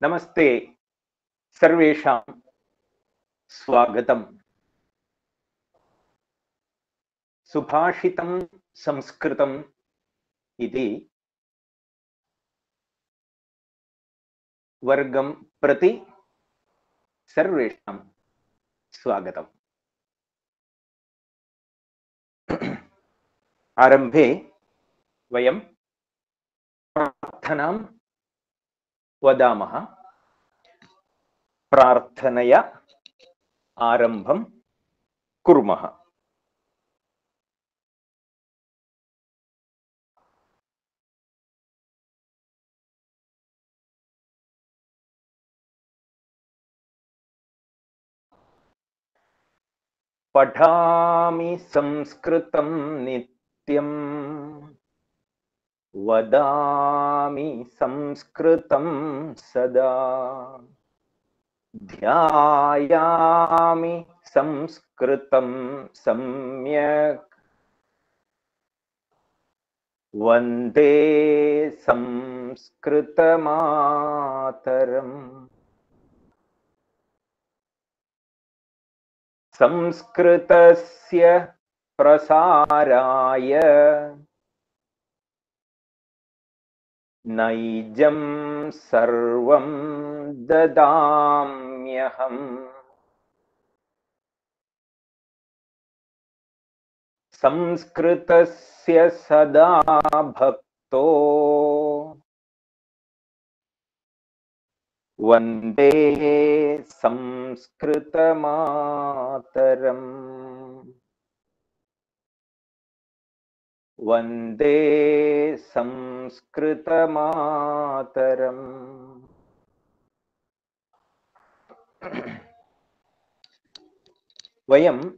नमस्ते सर्वेषां स्वागतम्। सुभाषितं संस्कृतम् इति वर्गं प्रति सर्वेषां स्वागतम्। आरम्भे वयं प्रार्थनां वदामः। प्रार्थनया आरम्भं कुर्मः। पठामि संस्कृतं नित्यं, वदामि संस्कृतं सदा, ध्यायामि संस्कृतं सम्यक्, वन्दे संस्कृतमातरम्। संस्कृतस्य प्रसाराय नैजं सर्वं ददाम्यहम्। संस्कृतस्य सदा भक्तो वन्दे संस्कृतमातरम्। वन्दे संस्कृतमातरम्। वयं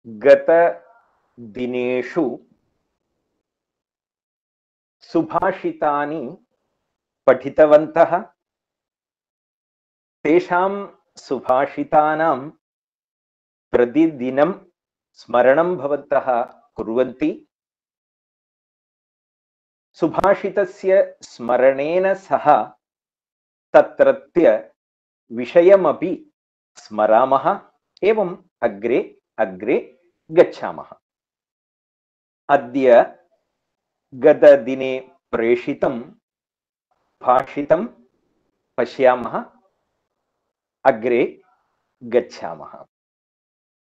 गतदिनेषु सुभाषितानि पठितवन्तः। तेषां सुभाषितानां प्रतिदिनं स्मरणं भवन्तः कुर्वन्ति। सुभाषितस्य स्मरणेन सह तत्रत्य विषयमपि स्मरामः, एवम् अग्रे अग्रे गच्छामः। अद्य गतदिने प्रेषितं भाषितं पश्यामः, अग्रे गच्छामः।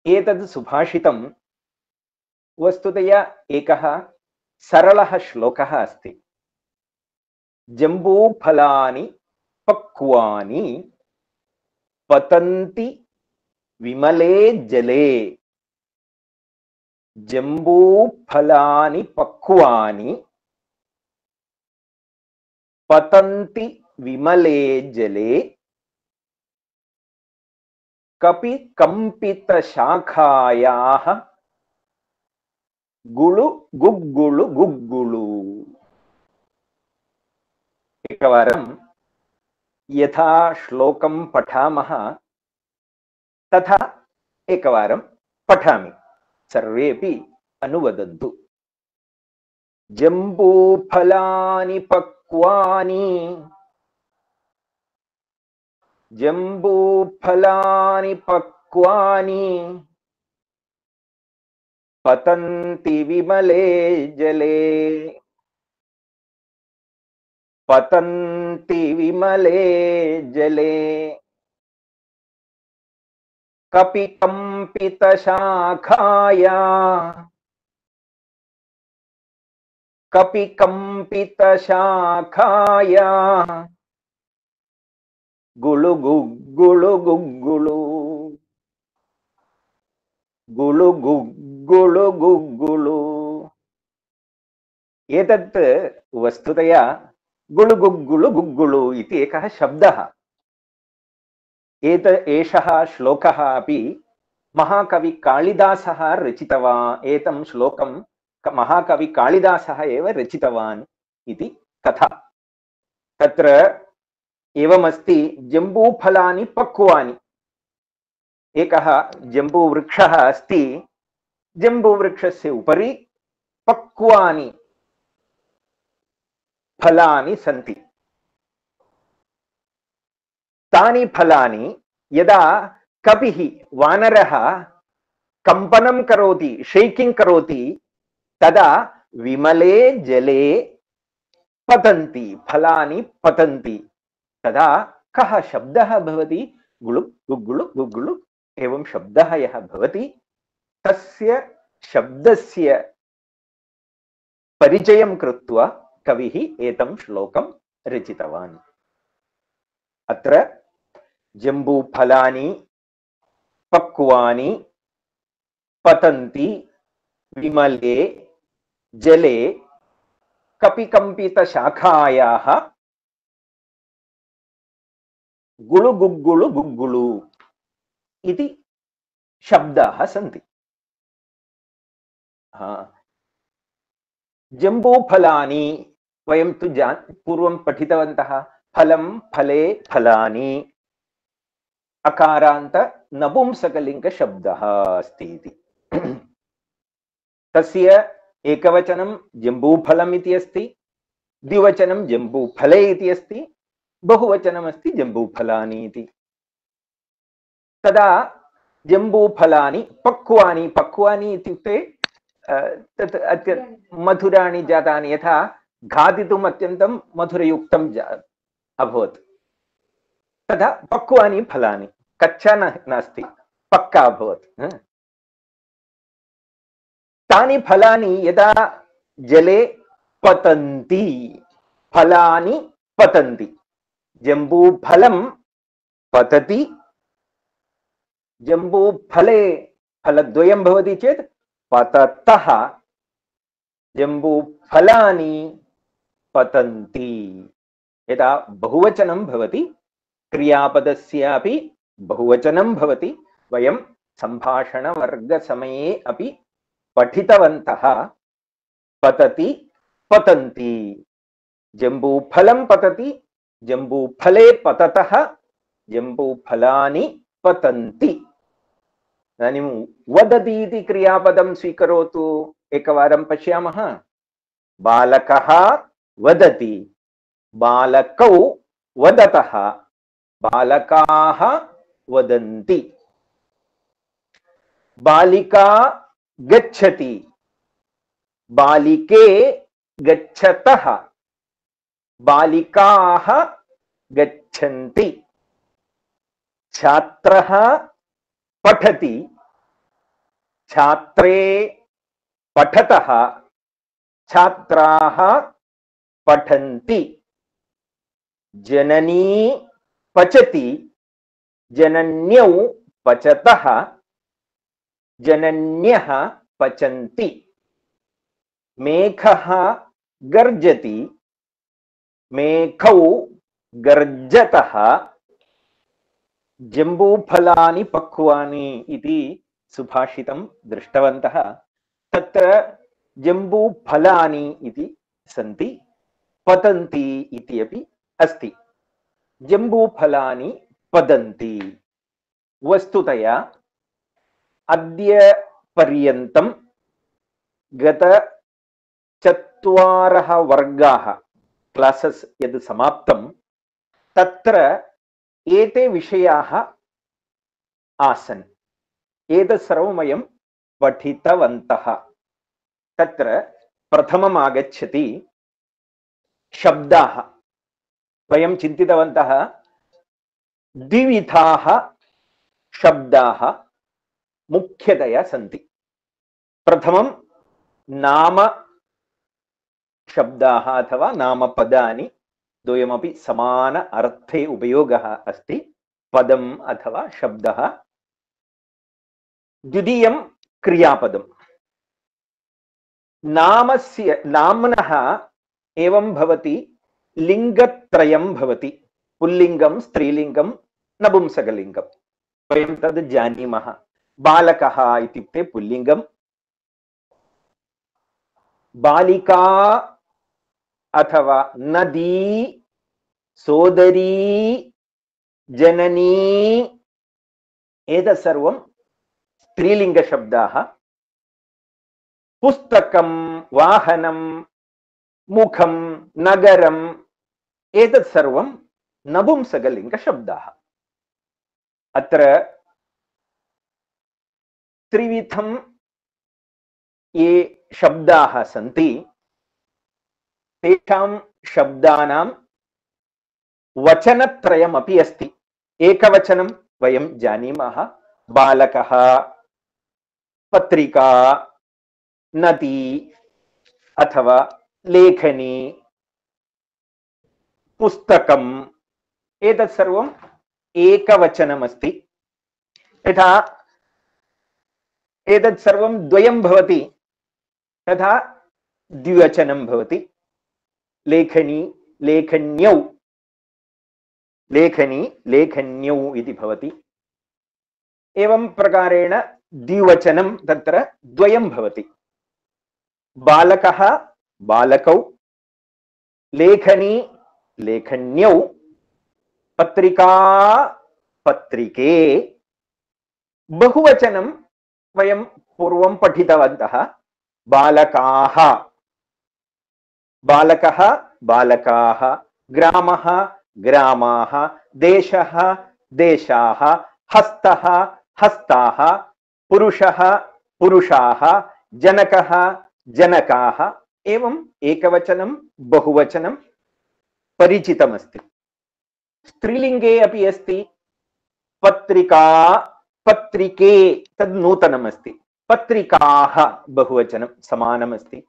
एतद् सुभाषितं वस्तुतया एकः सरलः श्लोकः अस्ति। जम्बूफलानि पक्वानि पतन्ति विमले जले। जम्बूफलानि पक्वानि पतन्ति विमले जले, कपि कंपितशाखायाः गुळु गुग्गुळु गुग्गुळु। एकवारं यथा श्लोकं पठामः तथा एकवारं पठामि, सर्वेपि अनुवदन्तु। जम्बूफलानि पक्वानि, जम्बूफलानि पक्वानि पतन्ति विमले जले। पतन्ति विमले जले, कपि कंपितशाखाया, कपि कंपितशाखाया गुळु गुग्गुळु गुग्गुळु। गुळु गुग्गुळु गुग्गुळु। एतत् वस्तुतया गुळु गुग्गुळु गुग्गुळु इति एकः शब्दः। एषः श्लोकः अपि महाकवि कालिदासः रचितवान्। एतं श्लोकं महाकवि कालिदासः एव रचितवान् इति कथा। तत्र एवमस्ति, जम्बूफलानि पक्वानि। एकः जम्बूवृक्षः अस्ति, जम्बूवृक्षस्य उपरि पक्वानि फलानि सन्ति। तानि फलानि यदा कपिः वानरः कंपनं करोति शेकिंग करोति तदा विमले जले पतन्ति फलानि पतन्ति तदा कः शब्दः भवति गुळुक् गुग्गुळुक् गुग्गुळुक् एवं शब्दः यः भवति तस्य शब्दस्य परिचयं कृत्वा कविः एतं श्लोकं रचितवान् अत्र जम्बूफलानि पक्वानि पतन्ति विमले जले कपिकम्पितशाखायाः गुळुगुग्गुळु गुग्गुळु इति शब्दाः सन्ति जम्बूफलानि वयं तु पूर्वं पठितवन्तः फलं फले फलानि अकारान्त नपुंसकलिङ्ग शब्दः अस्ति इति तस्य एकवचनं जम्बूफलम् इति अस्ति द्विवचनं जम्बूफले इति अस्ति बहुवचनम् अस्ति जम्बूफलानि इति तदा जम्बूफलानि पक्वानि पक्वानि इत्युक्ते तत् मधुराणि जातानि यथा खादितुम् अत्यन्तं मधुरयुक्तं अभवत् तदा पक्वानि फलानि कच्चा नास्ति पक्का अभवत् तानि फलानि यदा जले पतन्ति फलानि पतन्ति जम्बूफलं पतति जम्बूफले फलद्वयं भवति चेत् पततः जम्बूफलानि पतन्ति यदा बहुवचनं भवति क्रियापदस्यापि बहुवचनं भवति वयं सम्भाषणवर्गसमये अपि पठितवन्तः पतति पतन्ति जम्बूफलं पतति जम्बूफले पततः जम्बूफलानि पतन्ति इदानीं वदति इति क्रियापदं स्वीकरोतु एकवारं पश्यामः बालकः वदति बालकौ वदतः बालकाः वदन्ति बालिका गच्छति बालिके गच्छतः बालिकाः गच्छन्ति छात्रः पठति छात्रे पठतः छात्राः पठन्ति जननी पचति जनन्यौ पचतः जनन्यः पचन्ति मेघः गर्जति मेघौ गर्जतः जम्बूफलानि पक्वानि इति सुभाषितं दृष्टवन्तः तत्र जम्बूफलानि इति सन्ति पतन्ति इति अपि अस्ति जम्बूफलानि पतन्ति वस्तुतया अद्य पर्यन्तं गत 4 वर्गाः क्लासेस् यद् समाप्तं तत्र एते विषयाः आसन् एतत् सर्वं वयं पठितवन्तः तत्र प्रथमम् आगच्छति शब्दाः वयं चिन्तितवन्तः द्विविधाः शब्दाः मुख्यतया सन्ति प्रथमं नाम शब्दाः अथवा नामपदानि द्वयमपि समान अर्थे उपयोगः अस्ति पदम् अथवा शब्दः द्वितीयं क्रियापदम् नाम्नः एवं भवति लिङ्गत्रयं भवति पुल्लिङ्गं स्त्रीलिङ्गं नपुंसकलिङ्गं वयं तद् जानीमः बालकः इत्युक्ते पुल्लिङ्गं बालिका अथवा नदी सोदरी जननी एतत् सर्वं स्त्रीलिङ्गशब्दाः पुस्तकं वाहनं मुखं नगरम् एतत् सर्वं नपुंसकलिङ्गशब्दाः अत्र त्रिविधं ये शब्दाः सन्ति तेषां शब्दानां वचनत्रयमपि अस्ति। एकवचनं वयं जानीमः, बालकः, पत्रिका, नदी अथवा लेखनी, पुस्तकम्, एतत् सर्वम् एकवचनमस्ति। यथा एतत् सर्वं द्वयं भवति तथा द्विवचनं भवति। लेखनी, लेखन्यौ, लेखनी, लेखन्यौ इति भवति। एवं प्रकारेण द्विवचनं तत्र द्वयं भवति। बालकः, बालकौ, लेखनी, लेखन्यौ, पत्रिका, पत्रिके। बहुवचनं वयं पूर्वं पठितवन्तः, बालकाः, बालकः, बालकाः, ग्रामः, ग्रामाः, देशः, देशाः, हस्तः, हस्ताः, पुरुषः, पुरुषाः, जनकः, जनकाः। एवम् एकवचनं बहुवचनं परिचितमस्ति। स्त्रीलिङ्गे अपि अस्ति। पत्रिका, पत्रिके तद् नूतनमस्ति। पत्रिकाः बहुवचनं समानमस्ति।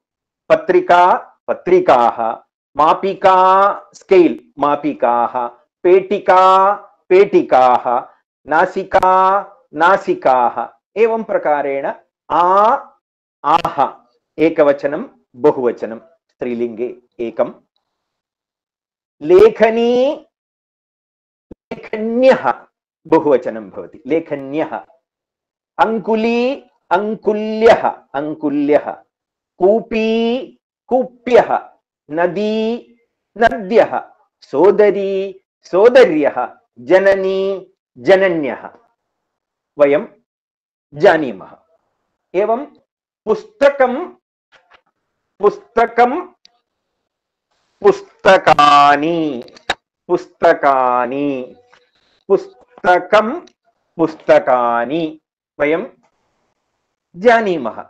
पत्रिका, पत्रिकाः, मापिका, स्केल्, मापिकाः, पेटिका, पेटिकाः, नासिका, नासिकाः। एवं प्रकारेण आह एकवचनं बहुवचनं स्त्रीलिङ्गे एकं। लेखनी, लेखन्यः बहुवचनं भवति, लेखन्यः। अंकुली, अंकुल्यः, अंकुल्यः। कूपी, कूप्यः। नदी, नद्यः। सोदरी, सोदर्यः। जननी, जनन्यः वयं जानीमः। एवं पुस्तकं, पुस्तकं, पुस्तकानि, पुस्तकानि, पुस्तकं, पुस्तकानि वयं जानीमः।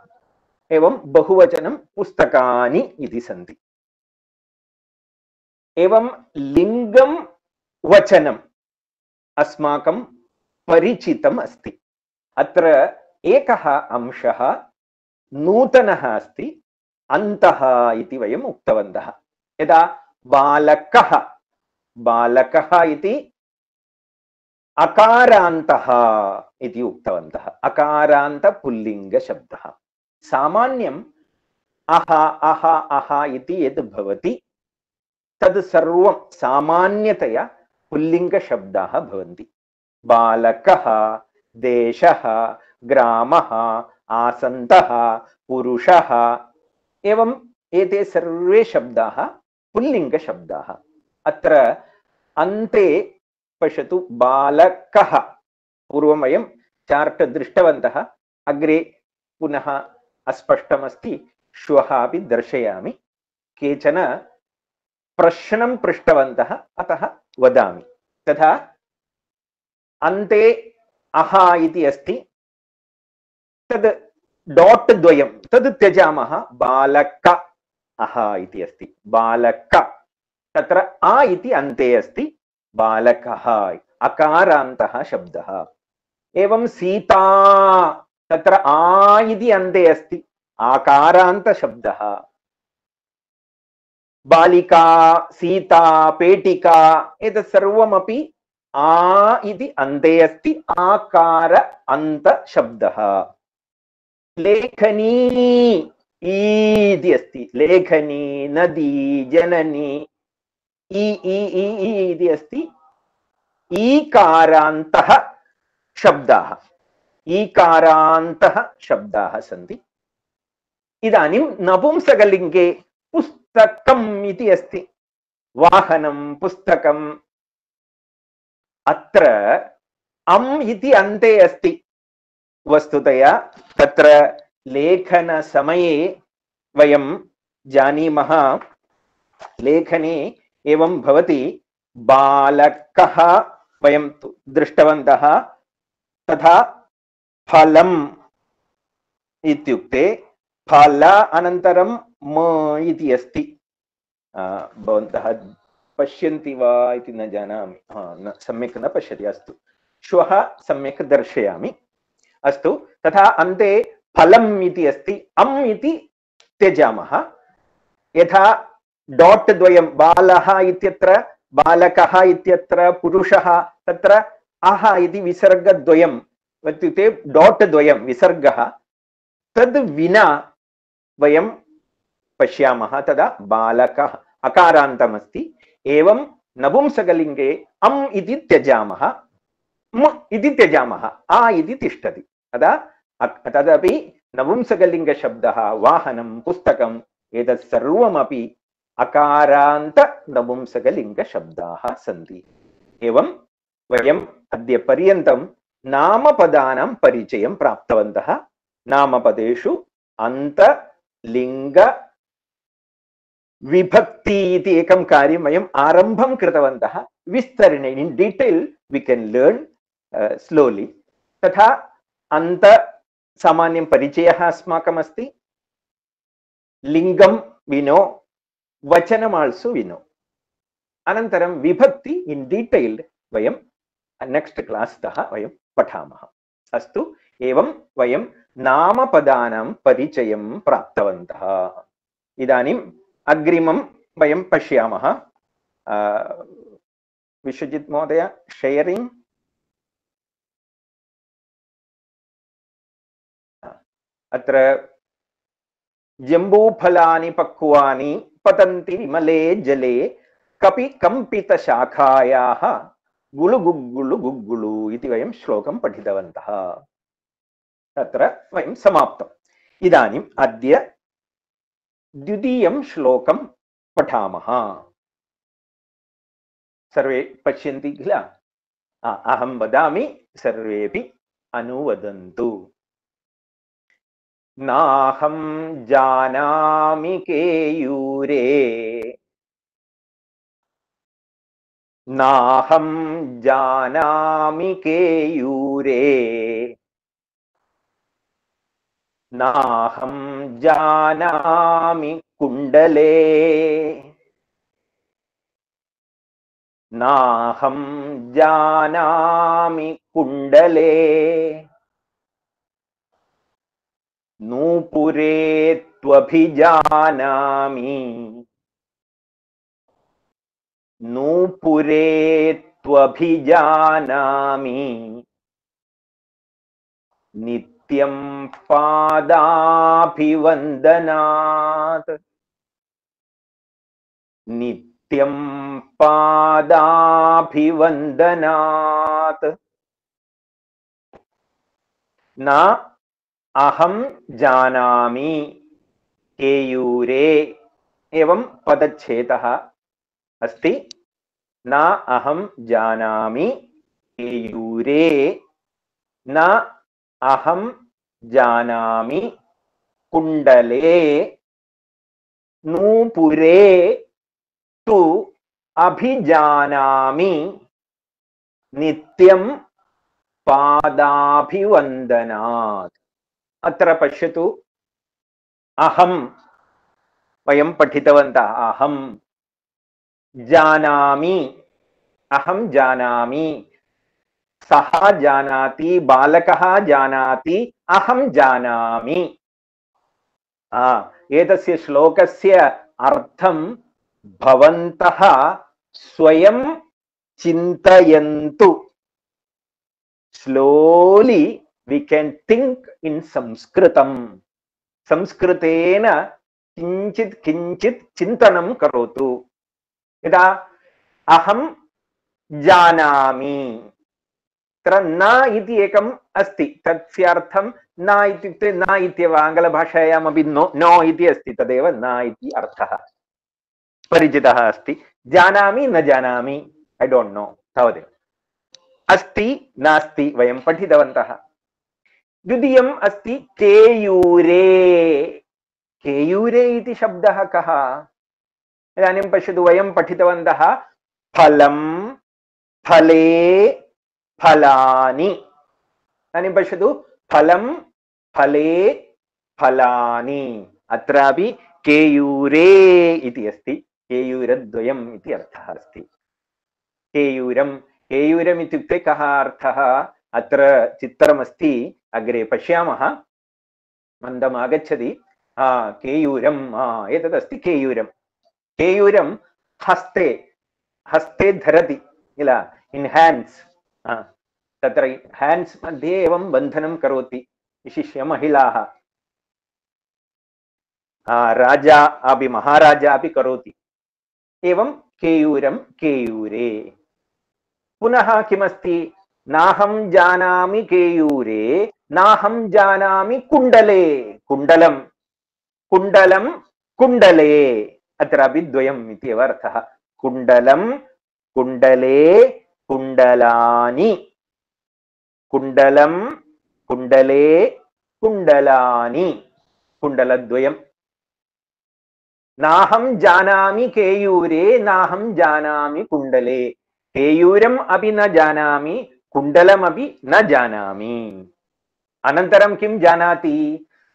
एवं बहुवचनं पुस्तकानि इति सन्ति। एवं लिङ्गं वचनम् अस्माकं परिचितम् अस्ति। अत्र एकः अंशः नूतनः अस्ति, अन्तः इति वयम् उक्तवन्तः। यदा बालकः, बालकः इति अकारान्तः इति उक्तवन्तः। अकारान्त पुल्लिङ्गशब्दः। सामान्यम् अह, अह, अह इति यद् भवति तद् सर्वं सामान्यतया पुल्लिङ्गशब्दाः भवन्ति। बालकः, देशः, ग्रामः, आसन्दः, पुरुषः, एवं एते सर्वे शब्दाः पुल्लिङ्गशब्दाः। अत्र अन्ते पश्यतु, बालकः पूर्वं वयं चार्ट् दृष्टवन्तः, अग्रे पुनः अस्पष्टमस्ति, श्वः अपि दर्शयामि। केचन प्रश्नं पृष्टवन्तः, अतः वदामि। तथा अन्ते अह इति अस्ति, तद् डाट् द्वयं तद् त्यजामः। बालक अह इति अस्ति, बालक। तत्र आ इति अन्ते अस्ति, बालकः अकारान्तः शब्दः। एवं सीता, तत्र आ इति अन्ते अस्ति, आकारान्तशब्दः। बालिका, सीता, पेटिका, एतत् सर्वमपि आ इति अन्ते अस्ति, आकार अन्त शब्दः। लेखनी इति अस्ति, लेखनी, नदी, जननी, ई इति अस्ति, ईकारान्तः शब्दाः, ईकारान्तः शब्दाः सन्ति। इदानीं नपुंसकलिङ्गे पुस्तकम् इति अस्ति, वाहनं, पुस्तकम्। अत्र अम् इति अन्ते अस्ति। वस्तुतया तत्र लेखनसमये वयं जानीमः, लेखने एवं भवति। बालकः वयं दृष्टवन्तः, तथा फलम् इत्युक्ते फल अनन्तरं म इति अस्ति। भवन्तः पश्यन्ति वा इति न जानामि। सम्यक् न पश्यति। अस्तु, श्वः सम्यक् दर्शयामि। अस्तु, तथा अन्ते फलम् इति अस्ति। अम् इति त्यजामः। यथा डाट् द्वयं, बालः इत्यत्र बालकः इत्यत्र पुरुषः, तत्र अह इति विसर्गद्वयम् इत्युक्ते डाट् द्वयं विसर्गः, तद् विना वयं पश्यामः तदा बालकः अकारान्तमस्ति। एवं नपुंसकलिङ्गे अम् इति त्यजामः, म इति त्यजामः, आ इति तिष्ठति। तदा तदपि नपुंसकलिङ्गशब्दः, वाहनं, पुस्तकम्, एतत् सर्वमपि अकारान्त नपुंसकलिङ्गशब्दाः सन्ति। एवं वयम् अद्य पर्यन्तं नामपदानां परिचयं प्राप्तवन्तः। नामपदेषु अन्त, लिङ्ग, विभक्ति इति एकं कार्यं वयम् आरम्भं कृतवन्तः। विस्तरेण in detail V can learn slowly. तथा अन्त सामान्यं परिचयः अस्माकम् अस्ति। लिङ्गं विनो, वचनम् आल्सो विनो। अनन्तरं विभक्ति इन् डिटेल् वयं नेक्स्ट् क्लास् तः वयं पठामः। अस्तु, एवं वयं नामपदानां परिचयं प्राप्तवन्तः। इदानीम् अग्रिमं वयं पश्यामः। विश्वजित् महोदय, शेयरिङ्ग्। अत्र जम्बूफलानि पक्वानि पतन्ति विमले जले कपि कम्पितशाखायाः गुलुगुग्गुलु गुग्गुलु इति वयं श्लोकं पठितवन्तः। तत्र वयं समाप्तम्। इदानीम् अद्य द्वितीयं श्लोकं पठामः। सर्वे पश्यन्ति किल? अहं वदामि, सर्वेपि अनुवदन्तु। नाहं जानामि केयूरे, नाहं जानामि केयूरे, नाहं जानामि कुण्डले, नाहं जानामि कुण्डले, नूपुरे त्वभिजानामि, नूपुरे त्वभिजानामि, नित्यं पादाभिवन्दनात्, नित्यं पादाभिवन्दनात्। न अहं जानामि केयूरे, एवं पदच्छेदः अस्ति। न अहं जानामि केयूरे, न अहं जानामि कुण्डले, नूपुरे तु अभिजानामि, नित्यं पादाभिवन्दनात्। अत्र पश्यतु, अहं वयं पठितवन्तः। अहं जानामि, अहं जानामि, सः जानाति, बालकः जानाति, अहं जानामि। एतस्य श्लोकस्य अर्थं भवन्तः स्वयं चिन्तयन्तु। Slowly we can think in संस्कृतं। संस्कृतेन किञ्चित् किञ्चित् चिन्तनं करोतु। यदा अहं जानामि, तत्र न इति एकम् अस्ति। तस्य अर्थं न इत्युक्ते न इत्येव। आङ्ग्लभाषायामपि नो इति अस्ति, तदेव न इति अर्थः परिचितः अस्ति। जानामि, न जानामि, ऐ डोण्ट् नो, तावदेव। अस्ति, नास्ति, वयं पठितवन्तः। द्वितीयम् अस्ति केयूरे। केयूरे इति शब्दः कः? इदानीं पश्यतु, वयं पठितवन्तः फलं, फले, फलानि। इदानीं पश्यतु फलं फले फलानि अत्रापि केयूरे इति अस्ति केयूरद्वयम् इति अर्थः अस्ति केयूरं केयूरम् इत्युक्ते कः अर्थः अत्र चित्रमस्ति अग्रे पश्यामः मन्दम् आगच्छति केयूरम् एतदस्ति केयूरं केयूरं हस्ते हस्ते धरति किल इन् हैण्ड्स् तत्र हैण्ड्स् मध्ये एवं बन्धनं करोति विशिष्य महिलाः राजा अपि महाराजा अपि करोति एवं केयूरं केयूरे पुनः किमस्ति नाहं जानामि केयूरे नाहं जानामि कुण्डले कुण्डलं कुण्डलं कुण्डले अत्रापि द्वयम् इत्येव अर्थः कुण्डलं कुण्डले कुण्डलानि कुण्डलं कुण्डले कुण्डलानि कुण्डलद्वयम् नाहं जानामि केयूरे नाहं जानामि कुण्डले केयूरम् अपि न जानामि कुण्डलमपि न जानामि अनन्तरं किं जानाति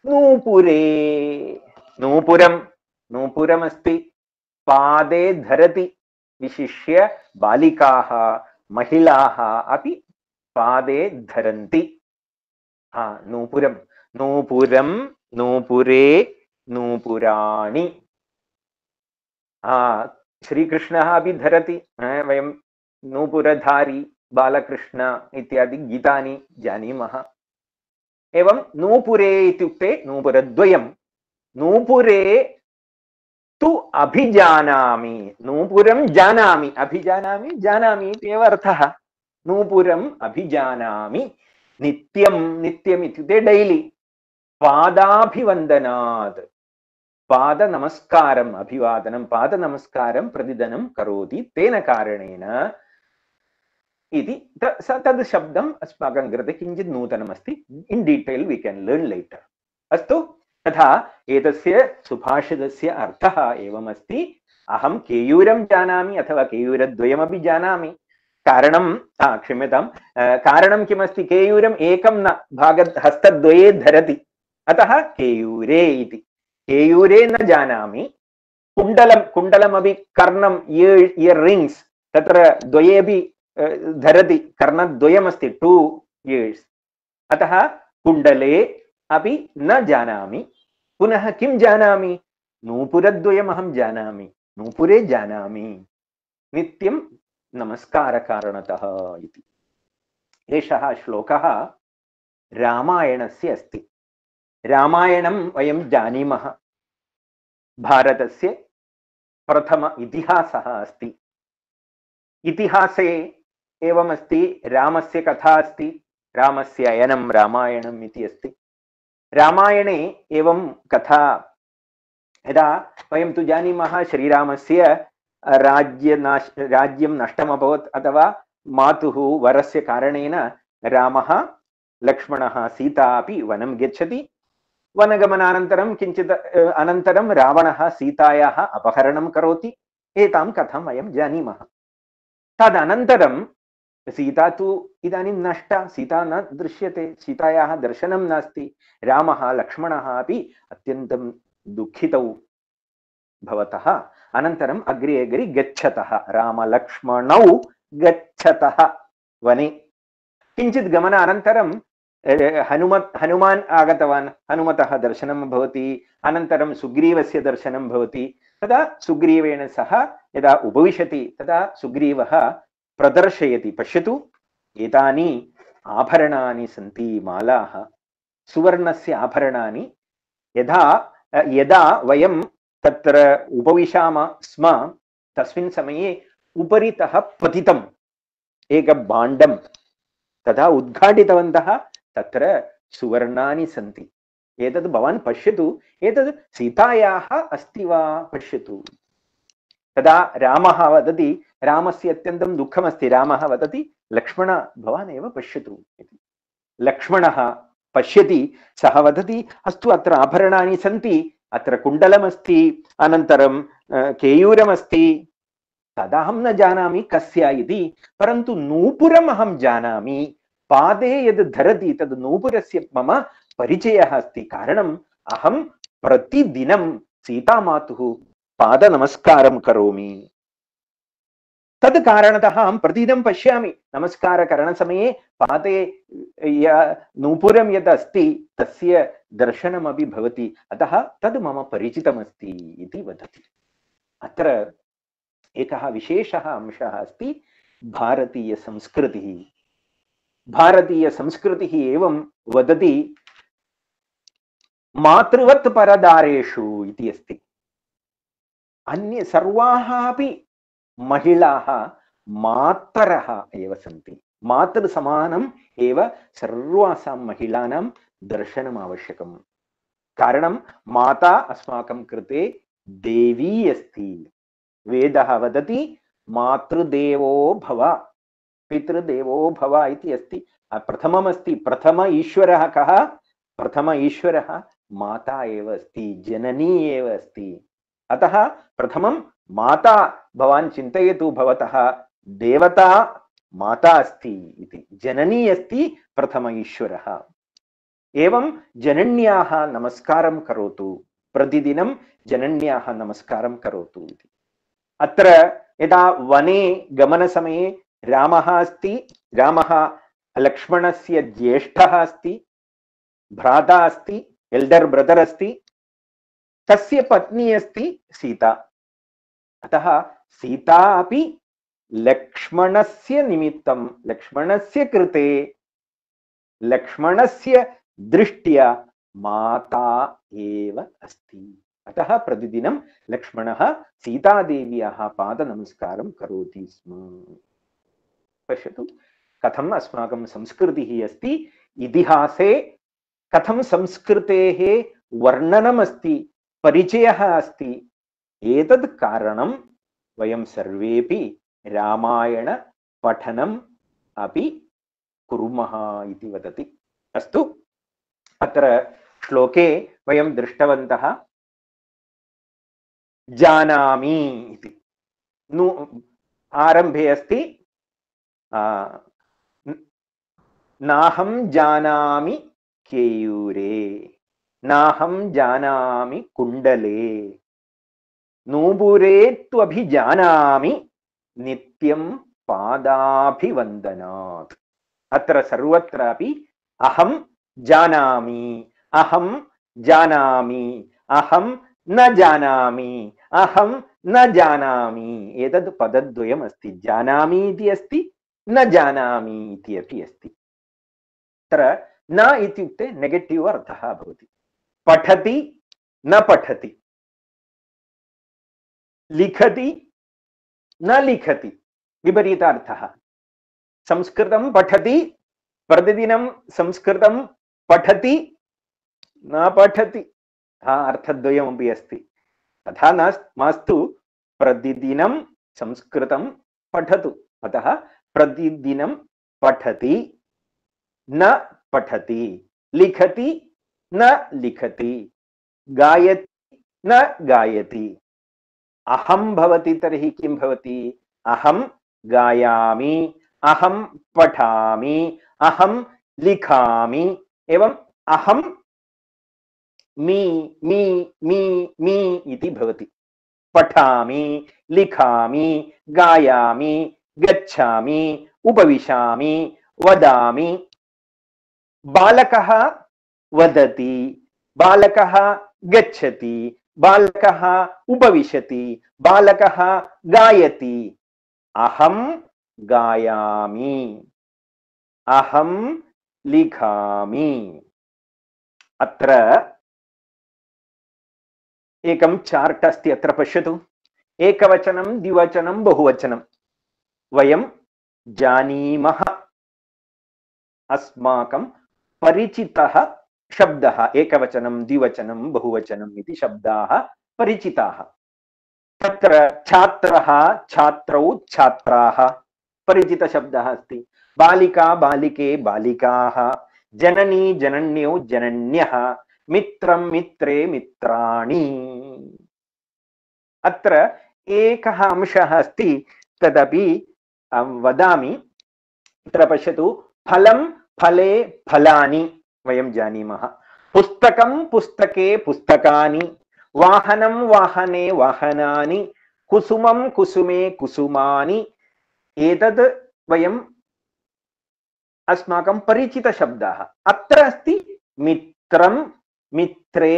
नूपुरे नूपुरं नूपुरमस्ति पादे धरति विशिष्य बालिकाः महिलाः अपि पादे धरन्ति नूपुरं नूपुरं नूपुरे नूपुराणि श्रीकृष्णः अपि धरति वयं नूपुरधारी बालकृष्ण इत्यादि गीतानि जानीमः एवं नूपुरे इत्युक्ते नूपुरद्वयं नूपुरे तु अभिजानामि नूपुरं जानामि अभिजानामि जानामि इत्येव अर्थः नूपुरम् अभिजानामि नित्यं नित्यम् इत्युक्ते डैलि पादाभिवन्दनात् पादनमस्कारम् अभिवादनं पादनमस्कारं प्रतिदिनं करोति तेन कारणेन इति तद् शब्दम् अस्माकं कृते किञ्चित् नूतनमस्ति in detail we can learn later अस्तु तथा एतस्य सुभाषितस्य अर्थः एवमस्ति अहं केयूरं जानामि अथवा केयूरद्वयमपि जानामि कारणं क्षम्यतां कारणं किमस्ति केयूरम् एकं न हस्तद्वये धरति अतः केयूरे इति केयूरे न जानामि कुण्डलं कुण्डलमपि कर्णं इयर् रिङ्ग्स् तत्र द्वयेपि धरति कर्णद्वयमस्ति 2 इयर्स् अतः कुण्डले अपि न जानामि पुनः किं जानामि नूपुरद्वयमहं जानामि नूपुरे जानामि नित्यं नमस्कारकारणतः इति एषः श्लोकः रामायणस्य अस्ति रामायणं वयं जानीमः भारतस्य प्रथम इतिहासः अस्ति इतिहासे एवमस्ति रामस्य कथा अस्ति रामस्य अयनं रामायणम् इति अस्ति रामायणे एवं कथा यदा वयं तु जानीमः श्रीरामस्य राज्यं नष्टमभवत् अथवा मातुः वरस्य कारणेन रामः लक्ष्मणः सीता अपि वनं गच्छति वनगमनानन्तरं किञ्चित् अनन्तरं रावणः सीतायाः अपहरणं करोति एतां कथां वयं जानीमः तदनन्तरं सीता तु इदानीं नष्टा सीता न दृश्यते सीतायाः दर्शनं नास्ति रामः लक्ष्मणः अपि अत्यन्तं दुःखितौ भवतः अनन्तरम् अग्रे अग्रे गच्छतः रामलक्ष्मणौ गच्छतः वने किञ्चित् गमनानन्तरं हनुमान् आगतवान् हनुमतः दर्शनं भवति अनन्तरं सुग्रीवस्य दर्शनं भवति तदा सुग्रीवेण सह यदा उपविशति तदा सुग्रीवः प्रदर्शयति पश्यतु एतानि आभरणानि सन्ति मालाः सुवर्णस्य आभरणानि यदा यदा वयं तत्र उपविशामः स्म तस्मिन् समये उपरितः पतितम् एकभाण्डं तदा उद्घाटितवन्तः तत्र सुवर्णानि सन्ति एतद् भवान् पश्यतु एतद् सीतायाः अस्ति वा पश्यतु तदा रामः वदति रामस्य अत्यन्तं दुःखमस्ति रामः वदति लक्ष्मण भवान् एव पश्यतु इति लक्ष्मणः पश्यति सः वदति अस्तु अत्र आभरणानि सन्ति अत्र कुण्डलमस्ति अनन्तरं केयूरमस्ति तदहं न जानामि कस्य इति परन्तु नूपुरम् अहं जानामि पादे यद् धरति तद् नूपुरस्य मम परिचयः अस्ति। कारणम् अहं प्रतिदिनं सीतामातुः पादनमस्कारं करोमि। तद् कारणतः अहं प्रतिदिनं पश्यामि, नमस्कारकरणसमये पादे नूपुरं यद् अस्ति तस्य दर्शनमपि भवति, अतः तद् मम परिचितमस्ति इति वदति। अत्र एकः विशेषः अंशः अस्ति, भारतीयसंस्कृतिः। भारतीयसंस्कृतिः एवं वदति, मातृवत् परदारेषु इति अस्ति। अन्य सर्वाः अपि महिलाः मातरः एव सन्ति। मातृसमानम् एव सर्वासां महिलानां दर्शनम् आवश्यकम्। कारणं माता अस्माकं कृते देवी अस्ति। वेदः वदति मातृदेवो भव पितृदेवो भव इति अस्ति। प्रथममस्ति, प्रथम ईश्वरः कः? प्रथम ईश्वरः माता एव अस्ति, जननी एव अस्ति। अतः प्रथमं माता, भवान् चिन्तयतु, भवतः देवता माता अस्ति इति, जननी अस्ति प्रथम ईश्वरः। एवं जनन्याः नमस्कारं करोतु, प्रतिदिनं जनन्याः नमस्कारं करोतु इति। अत्र यदा वने गमनसमये रामः अस्ति, रामः लक्ष्मणस्य ज्येष्ठः अस्ति, भ्राता अस्ति, एल्डर् ब्रदर् अस्ति, तस्य पत्नी अस्ति सीता। अतः सीता अपि लक्ष्मणस्य निमित्तं, लक्ष्मणस्य कृते, लक्ष्मणस्य दृष्ट्या माता एव अस्ति। अतः प्रतिदिनं लक्ष्मणः सीतादेव्याः पादनमस्कारं करोति स्म। पश्यतु कथम् अस्माकं संस्कृतिः अस्ति, इतिहासे कथं संस्कृतेः वर्णनमस्ति, परिचयः अस्ति। एतद् कारणं वयं सर्वेपि रामायण पठनम् अपि कुर्मः इति वदति। अस्तु, अत्र श्लोके वयं दृष्टवन्तः जानामि इति। आरम्भे अस्ति नाहं जानामि केयूरे, नाहं जानामि कुण्डले, नूपुरे त्वभिजानामि नित्यं पादाभिवन्दनात्। अत्र सर्वत्रापि अहं जानामि, अहं जानामि, अहं न जानामि, अहं न जानामि, एतद् पदद्वयम् अस्ति। जानामि इति अस्ति, न जानामि इति अपि अस्ति। अत्र न इत्युक्ते नेगेटिव् अर्थः भवति। पठति न पठति, लिखति न लिखति, विपरीतार्थः। संस्कृतं पठति, प्रतिदिनं संस्कृतं पठति न पठति, अर्थद्वयमपि अस्ति। तथा मास्तु, प्रतिदिनं संस्कृतं पठतु। अतः प्रतिदिनं पठति न पठति, लिखति न लिखति, गायति न गायति। अहं भवति तर्हि किं भवति? अहं गायामि, अहं पठामि, अहं लिखामि, एवं अहं मी मी मी मी इति भवति। पठामि, लिखामि, गायामि, गच्छामि, उपविशामि, वदामि। बालकः वदति, बालकः गच्छति, बालकः उपविशति, बालकः गायति। अहं गायामि, अहं लिखामि। अत्र एकं चार्ट् अस्ति, अत्र पश्यतु। एकवचनं, द्विवचनं, बहुवचनं। वयं जानीमः, अस्माकं परिचितः शब्दः। एकवचनं, द्विवचनं, बहुवचनम् इति शब्दाः परिचिताः। तत्र छात्रः, छात्रौ, छात्राः परिचितशब्दः अस्ति। बालिका, बालिके, बालिकाः, जननी, जनन्यौ, जनन्यः, मित्रं, मित्रे, मित्राणि। अत्र एकः अंशः अस्ति, तदपि वदामि। अत्र पश्यतु फलं फले फलानि वयं जानीमः पुस्तकं पुस्तके पुस्तकानि वाहनं वाहने वाहनानि कुसुमं कुसुमे कुसुमानि एतद् वयं अस्माकं परिचितशब्दाः अत्र अस्ति मित्रं मित्रे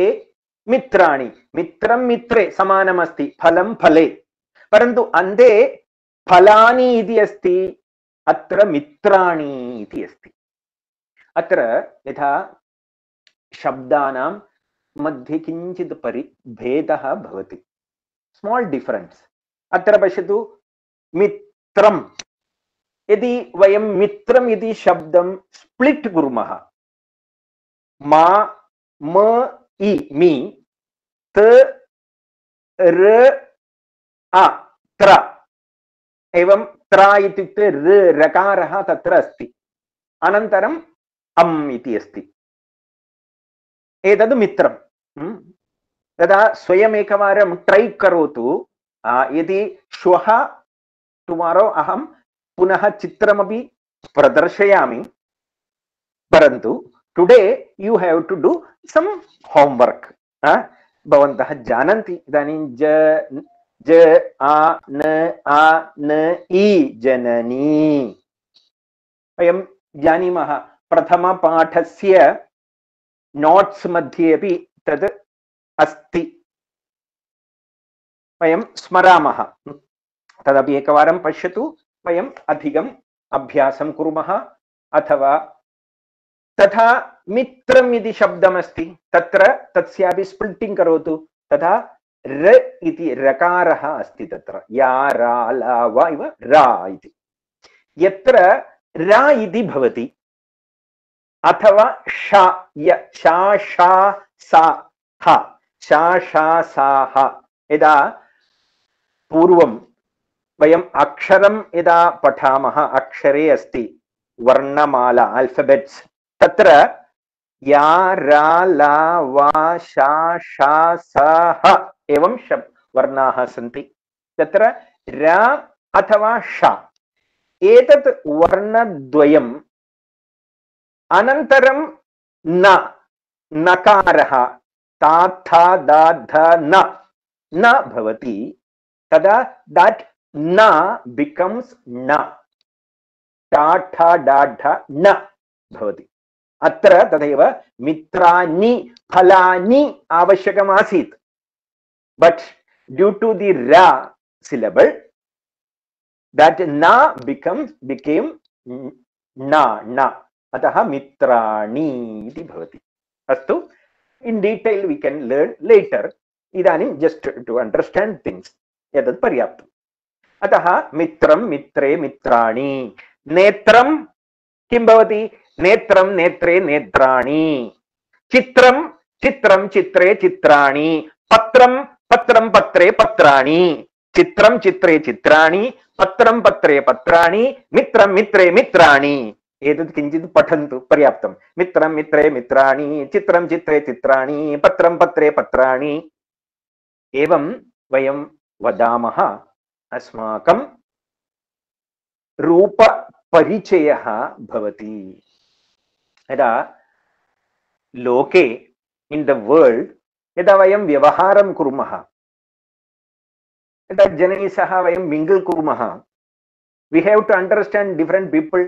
मित्राणि मित्रं मित्रे समानमस्ति फलं फले परन्तु अन्ते फलानि इति अस्ति अत्र मित्राणि इति अस्ति अत्र यथा शब्दानां मध्ये किञ्चित् भेदः भवति स्माल् डिफरेन्स् अत्र पश्यतु मित्रं यदि वयं मित्रम् इति शब्दं स्प्लिट् कुर्मः मा म इ मि त र आ त्र एवं त्र इत्युक्ते रकारः तत्र अस्ति अनन्तरम् अम् इति अस्ति एतद् मित्रं तदा स्वयम् एकवारं ट्रै करोतु यदि श्वः टुमारो अहं पुनः चित्रमपि प्रदर्शयामि परन्तु today you have to do some homework भवन्तः जानन्ति इदानीं ज आ न इ जननी वयं जानीमः प्रथमपाठस्य नोट्स् मध्ये अपि तद् अस्ति वयं स्मरामः तदपि एकवारं पश्यतु वयम् अधिकम् अभ्यासं कुर्मः अथवा तथा मित्रम् इति शब्दमस्ति तत्र तस्यापि स्प्लिट्टिङ्ग् करोतु तथा र इति रकारः अस्ति तत्र या रा ला वा इव रा इति यत्र रा इति भवति अथवा शा शा शा सा ह शा शा सा ह यदा पूर्वं वयम् अक्षरं यदा पठामः अक्षरे अस्ति वर्णमाला अल्फाबेट्स् तत्र या रा ला वा शा शा सा ह एवं वर्णाः सन्ति तत्र र अथवा श एतत् वर्णद्वयम् अनन्तरं न नकारः ता था दा ध न भवति तदा that न becomes न टा ठा डा ढ न भवति अत्र तथैव मित्राणि फलानि आवश्यकमासीत् but due to the ra syllable that na became na अतः मित्राणि इति भवति अस्तु in detail we can learn later इदानीं just to understand things एतत् पर्याप्तम् अतः मित्रं मित्रे मित्राणि नेत्रं किं भवति नेत्रं नेत्रे नेत्राणि चित्रं चित्रं चित्रे चित्राणि पत्रं पत्रं पत्रे पत्राणि चित्रं चित्रे चित्राणि पत्रं पत्रे पत्राणि मित्रं मित्रे मित्राणि एतत् किञ्चित् पठन्तु पर्याप्तं मित्रं मित्रे मित्राणि चित्रं चित्रे चित्राणि पत्रं पत्रे पत्राणि एवं वयं वदामः अस्माकं रूपपरिचयः भवति यदा लोके इन् द वर्ल्ड यदा वयं व्यवहारं कुर्मः यदा जनैः सह वयं मिङ्गल् कुर्मः we have to understand different people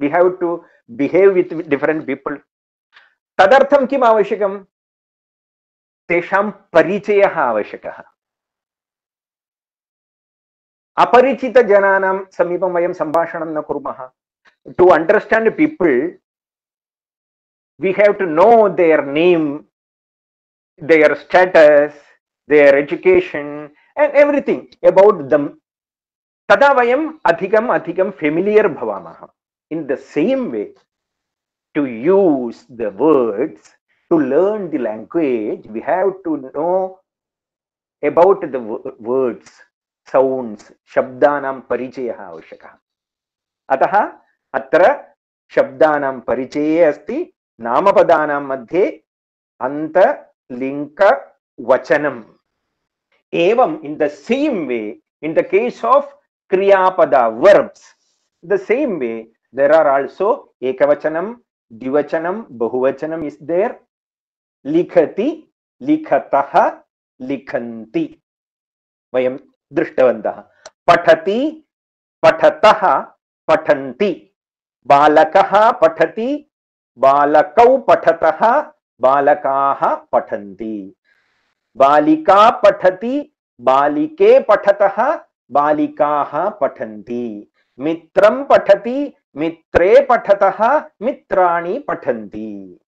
we have to behave with different people तदर्थं किम् आवश्यकं तेषां परिचयः आवश्यकः अपरिचितजनानां समीपं वयं सम्भाषणं न कुर्मः to understand people we have to know their name their status their education and everything about them तदा वयम् अधिकम् अधिकं फेमिलियर् भवामः in the same way to use the words to learn the language we have to know about the words sounds शब्दानां परिचयः आवश्यकः अतः अत्र शब्दानां परिचये अस्ति नामपदानां मध्ये अन्तलिङ्गवचनम् एवं in the same way in the case of kriyapada verbs the same way There are also ekavachanam, dvivachanam, bahuvachanam is there. Likhati, likhatah, likhanti. Vayam drishtavantah. Pathati, पठतः पठन्ति बालकः पठति बालकौ पठतः बालकाः पठन्ति बालिका पठति बालिके पठतः बालिकाः पठन्ति मित्रं पठति मित्रे पठतः मित्राणि पठन्ति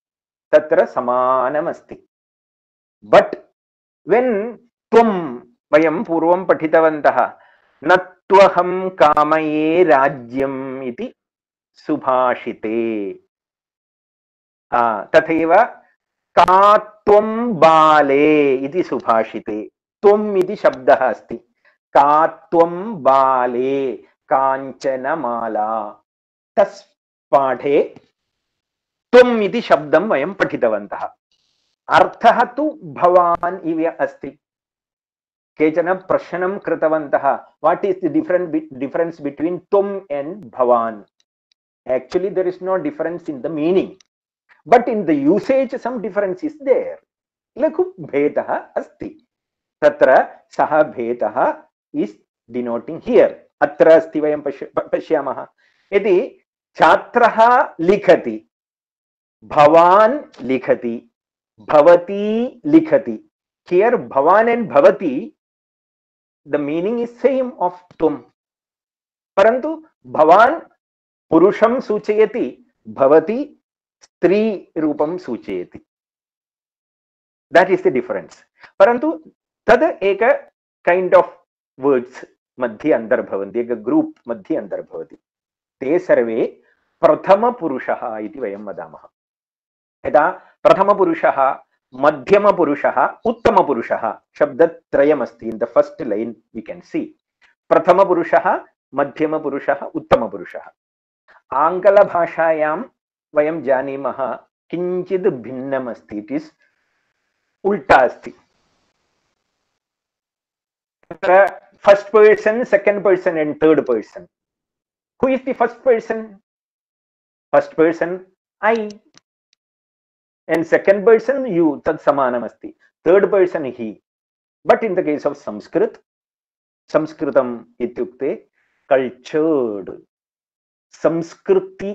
तत्र समानमस्ति बट व्हेन त्वं वयं पूर्वं पठितवन्तः न त्वहं कामये राज्यम् इति सुभाषिते तथैव का त्वं बाले इति सुभाषिते त्वम् इति शब्दः अस्ति का त्वं बाले काञ्चनमाला तस् पाठे त्वम् इति शब्दं वयं पठितवन्तः अर्थः तु भवान् इव अस्ति केचन प्रश्नं कृतवन्तः what is the difference between त्वम् एंड भवान् actually there is no difference in the meaning but in the usage some difference is there लघु भेदः अस्ति तत्र सः भेदः इज डिनोटिंग हियर अत्र अस्ति वयं पश्यामः यदि छात्रः लिखति भवान् लिखति भवती लिखति हियर भवान् एंड भवती the meaning is same of tum parantu bhavan purusham suchayati bhavati stri rupam suchayati that is the difference parantu tad eka kind of words madhye andar bhavanti eka group madhye andar bhavati te sarve prathama purushah iti vayam vadamah यदा प्रथम पुरुषः मध्यम पुरुषः उत्तम पुरुषः शब्दत्रयमस्ति in the first line we can see प्रथम पुरुषः मध्यम पुरुषः उत्तम पुरुषः आंग्ल भाषायां वयं जानीमः किंचित् भिन्नम् अस्ति इट इज उल्टा अस्ति तत्र first person second person and third person who is the first person I and second person you tad samanam asti third person he but in the case of sanskritam ityukte cultured samskriti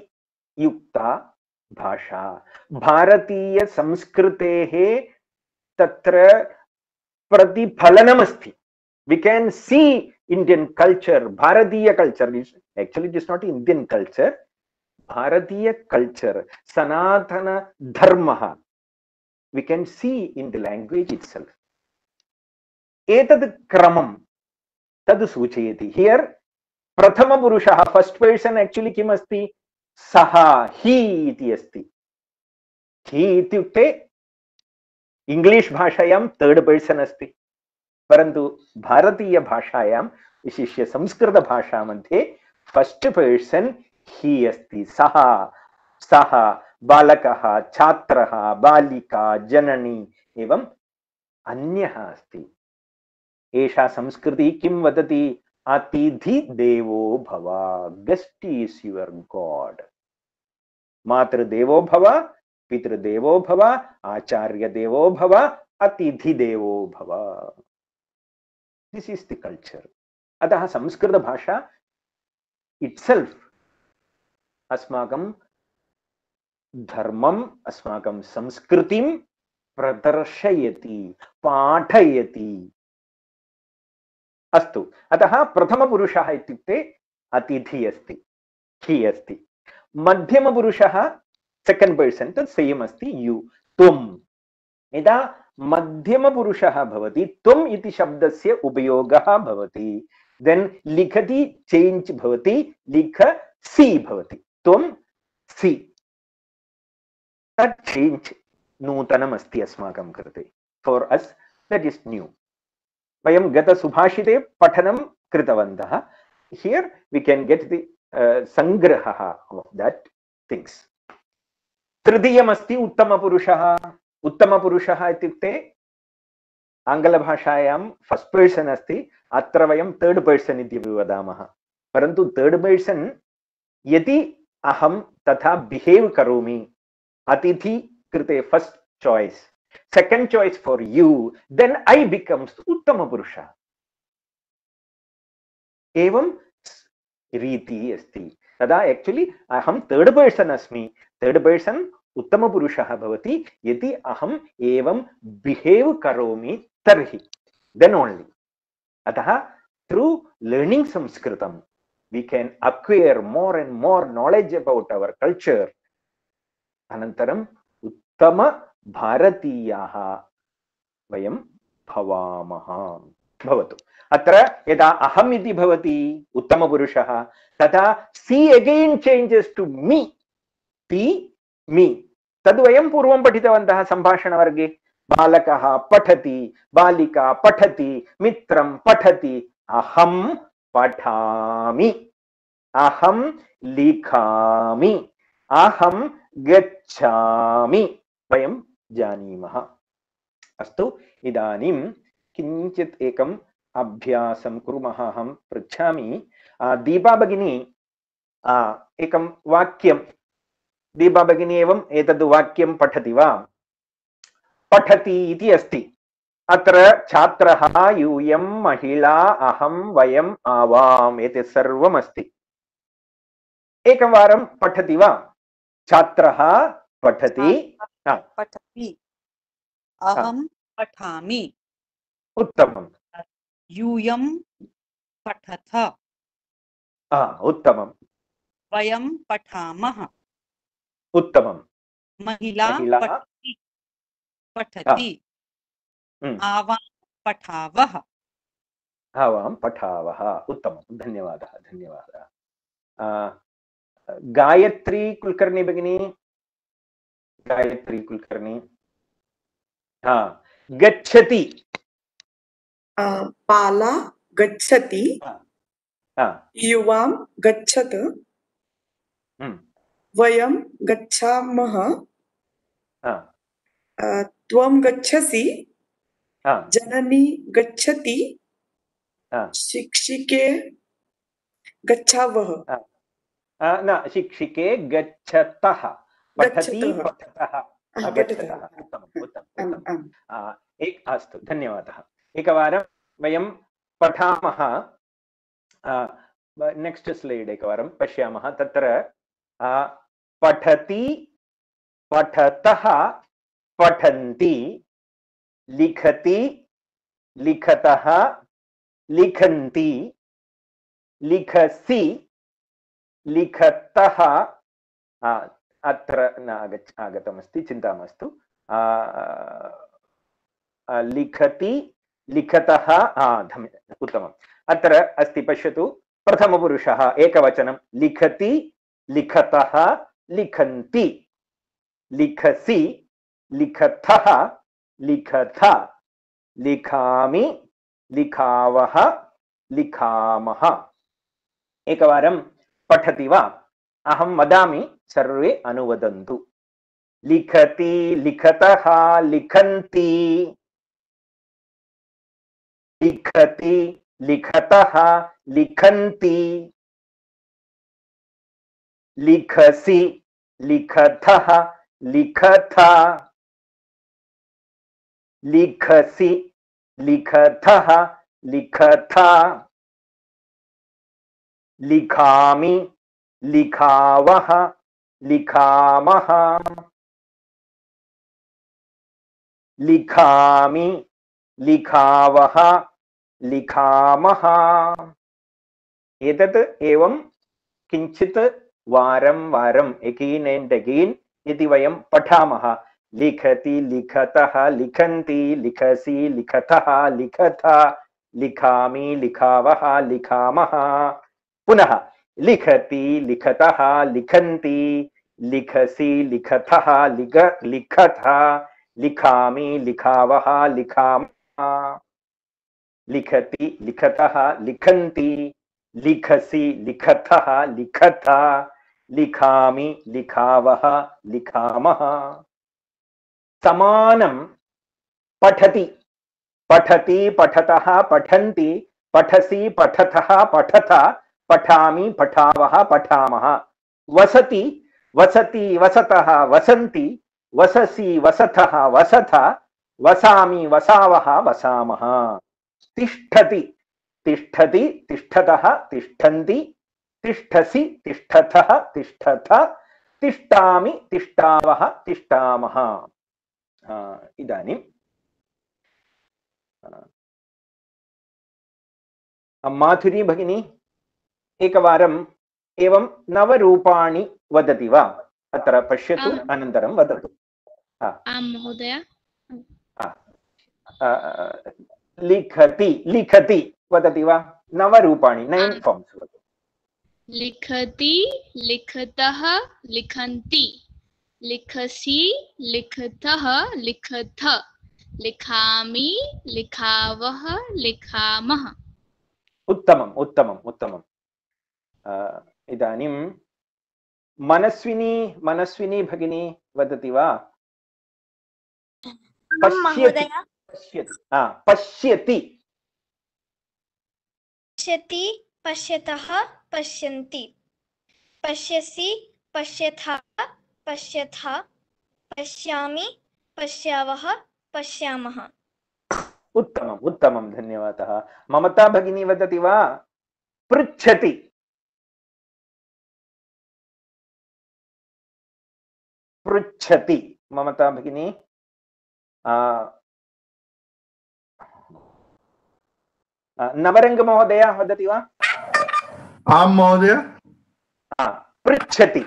yukta bhasha bharatiya samskruteः tatra pratiphalanam asti we can see Indian culture bharatiya culture actually it is not Indian culture Bharatiya culture, Sanatana Dharma, we can see in the language itself. Etad kramam tad suchayati. Here, prathama purushaha, first person actually kim asti? Saha, he iti asti. He ityukte English bhashayam third person asti. Parantu Bharatiya bhashayam, vishishya Samskrita bhasha madhye first person ही अस्ति सः सः बालकः छात्रः बालिका जननी एवं अन्यः अस्ति एषा संस्कृति किं वदति अतिथि देवो भव गेस्ट इज योर गॉड मातृदेवो भव पितृदेवो भव आचार्य देवो भव अतिथि देवो भव दिस इज द कल्चर अतः संस्कृत भाषा इटसेल्फ अस्माकं धर्मम् अस्माकं संस्कृतिं प्रदर्शयति पाठयति अस्तु अतः प्रथमपुरुषः इत्युक्ते अतिथि अस्ति ही अस्ति मध्यमपुरुषः सेकंड पर्सन तत् सेम अस्ति यू त्वं यदा मध्यमपुरुषः भवति त्वम् इति शब्दस्य उपयोगः भवति देन लिखति चेंज भवति लिखसि भवति त्वं सि तत् चेंज नूतनम् अस्ति अस्माकं कृते for us that is new वयं गत सुभाषिते पठनं कृतवन्तः here we can get the संग्रहः ऑफ दैट थिंग्स तृतीयमस्ति उत्तमपुरुषः इत्युक्ते आङ्ग्लभाषायां फर्स्ट पर्सन अस्ति अत्र वयं थर्ड पर्सन इति वदामः परन्तु थर्ड पर्सन यदि अहं तथा बिहेव करोमि अतिथि कृते first choice second choice for you then I becomes उत्तम पुरुषः एवं रीति अस्ति तदा एक्चुअली अहं थर्ड पर्सन अस्मि थर्ड पर्सन उत्तम पुरुषः भवति यदि अहम् एवं बिहेव करोमि तर्हि देन ओनली अतः थ्रू लर्निंग संस्कृतम we can acquire more and more knowledge about our culture अनन्तरम् उत्तम भारतीयाः वयं भवामः भवतु अत्र यदा अहम् इति भवति उत्तमपुरुषः तदा सी अगेन चेंजेस टू मी टी मी तद् वयं पूर्वं पठितवन्तः सम्भाषणवर्गे बालकः पठति बालिका पठति मित्रं पठति अहं पठामि अहं लिखामि अहं गच्छामि वयं जानीमः अस्तु इदानीं किञ्चित् एकम् अभ्यासं कुर्मः अहं पृच्छामि दीपा भगिनी एकं वाक्यं दीपा भगिनी एवम् एतद् वाक्यं पठति वा पठति इति अस्ति अत्र छात्रः यूयं महिला अहं वयम् आवाम् एतत् सर्वम् अस्ति एकवारं पठति वा छात्रः पठति पठति अहं पठामि उत्तमम् यूयं पठथ उत्तमम् वयं पठामः उत्तमम् महिला पठति आवां पठावः आवां पठावः उत्तमं धन्यवादः धन्यवादः गायत्री कुलकर्णी भगिनी गायत्री कुलकर्णी गच्छति बाला गच्छति युवां गच्छत वयं गच्छामः त्वं गच्छसि जननी गच्छति शिक्षिके गच्छावः न शिक्षिके गच्छतः पठति पठतः गच्छतः उत्तमम् उत्तमम् अस्तु धन्यवादः एकवारं वयं पठामः नेक्स्ट स्लाइड एकवारं पश्यामः तत्र पठति पठतः पठन्ति लिखति लिखतः लिखन्ति लिखसि लिखतः अत्र न आगतमस्ति चिन्ता मास्तु लिखति लिखतः उत्तमम् अत्र अस्ति पश्यतु प्रथमपुरुषः एकवचनं लिखति लिखतः लिखन्ति लिखसि लिखतः लिखथ लिखामि लिखावः लिखामः एकवारं पठति वा अहं वदामि सर्वे अनुवदन्तु लिखति लिखतः लिखन्ति लिखति लिखतः लिखन्ति लिखसि लिखतः लिखथ लिखसि लिखतः लिखथा लिखामि लिखावः लिखामः लिखामि लिखावः लिखामः एतत् एवं किञ्चित् वारं वारम् अगेन एंड अगेन यदि वयं पठामः लिखति लिखतः लिखन्ति लिखसि लिखतः लिखथा लिखामि लिखावः लिखामः पुनः लिखति लिखतः लिखन्ति लिखसि लिखतः लिखथा लिखामि लिखावः लिखामः लिखति लिखतः लिखन्ति लिखसि लिखतः लिखथा लिखामि लिखावः लिखामः समानं पठति पठति पठतः पठन्ति पठसि पठतः पठथ पठामि पठावः पठामः वसति वसति वसतः वसन्ति वससि वसथः वसथ वसामि वसावः वसामः तिष्ठति तिष्ठति तिष्ठतः तिष्ठन्ति तिष्ठसि तिष्ठथः तिष्ठथ तिष्ठामि तिष्ठावः तिष्ठामः इदानीं माधुरी भगिनी एकवारम् एवं नवरूपाणि वदति वा अत्र पश्यतु अनन्तरं वदतु आं महोदय लिखति लिखति वदति वा नवरूपाणि 9 फॉर्म्स वदतु लिखति लिखतः लिखन्ति लिखसि लिखतः लिखथ लिखामि लिखावः लिखामः उत्तमम् उत्तमम् उत्तमम् इदानीं मनस्विनी मनस्विनी भगिनी वदति वा पश्यति पश्यति पश्यति पश्यति पश्यतः पश्यन्ति पश्यसि पश्यथः पश्यथ पश्यामि पश्यावः पश्यामः उत्तमम् उत्तमं धन्यवादः ममता भगिनी वदति वा पृच्छति पृच्छति ममता भगिनी नवरंग महोदय वदति वा आं महोदय पृच्छति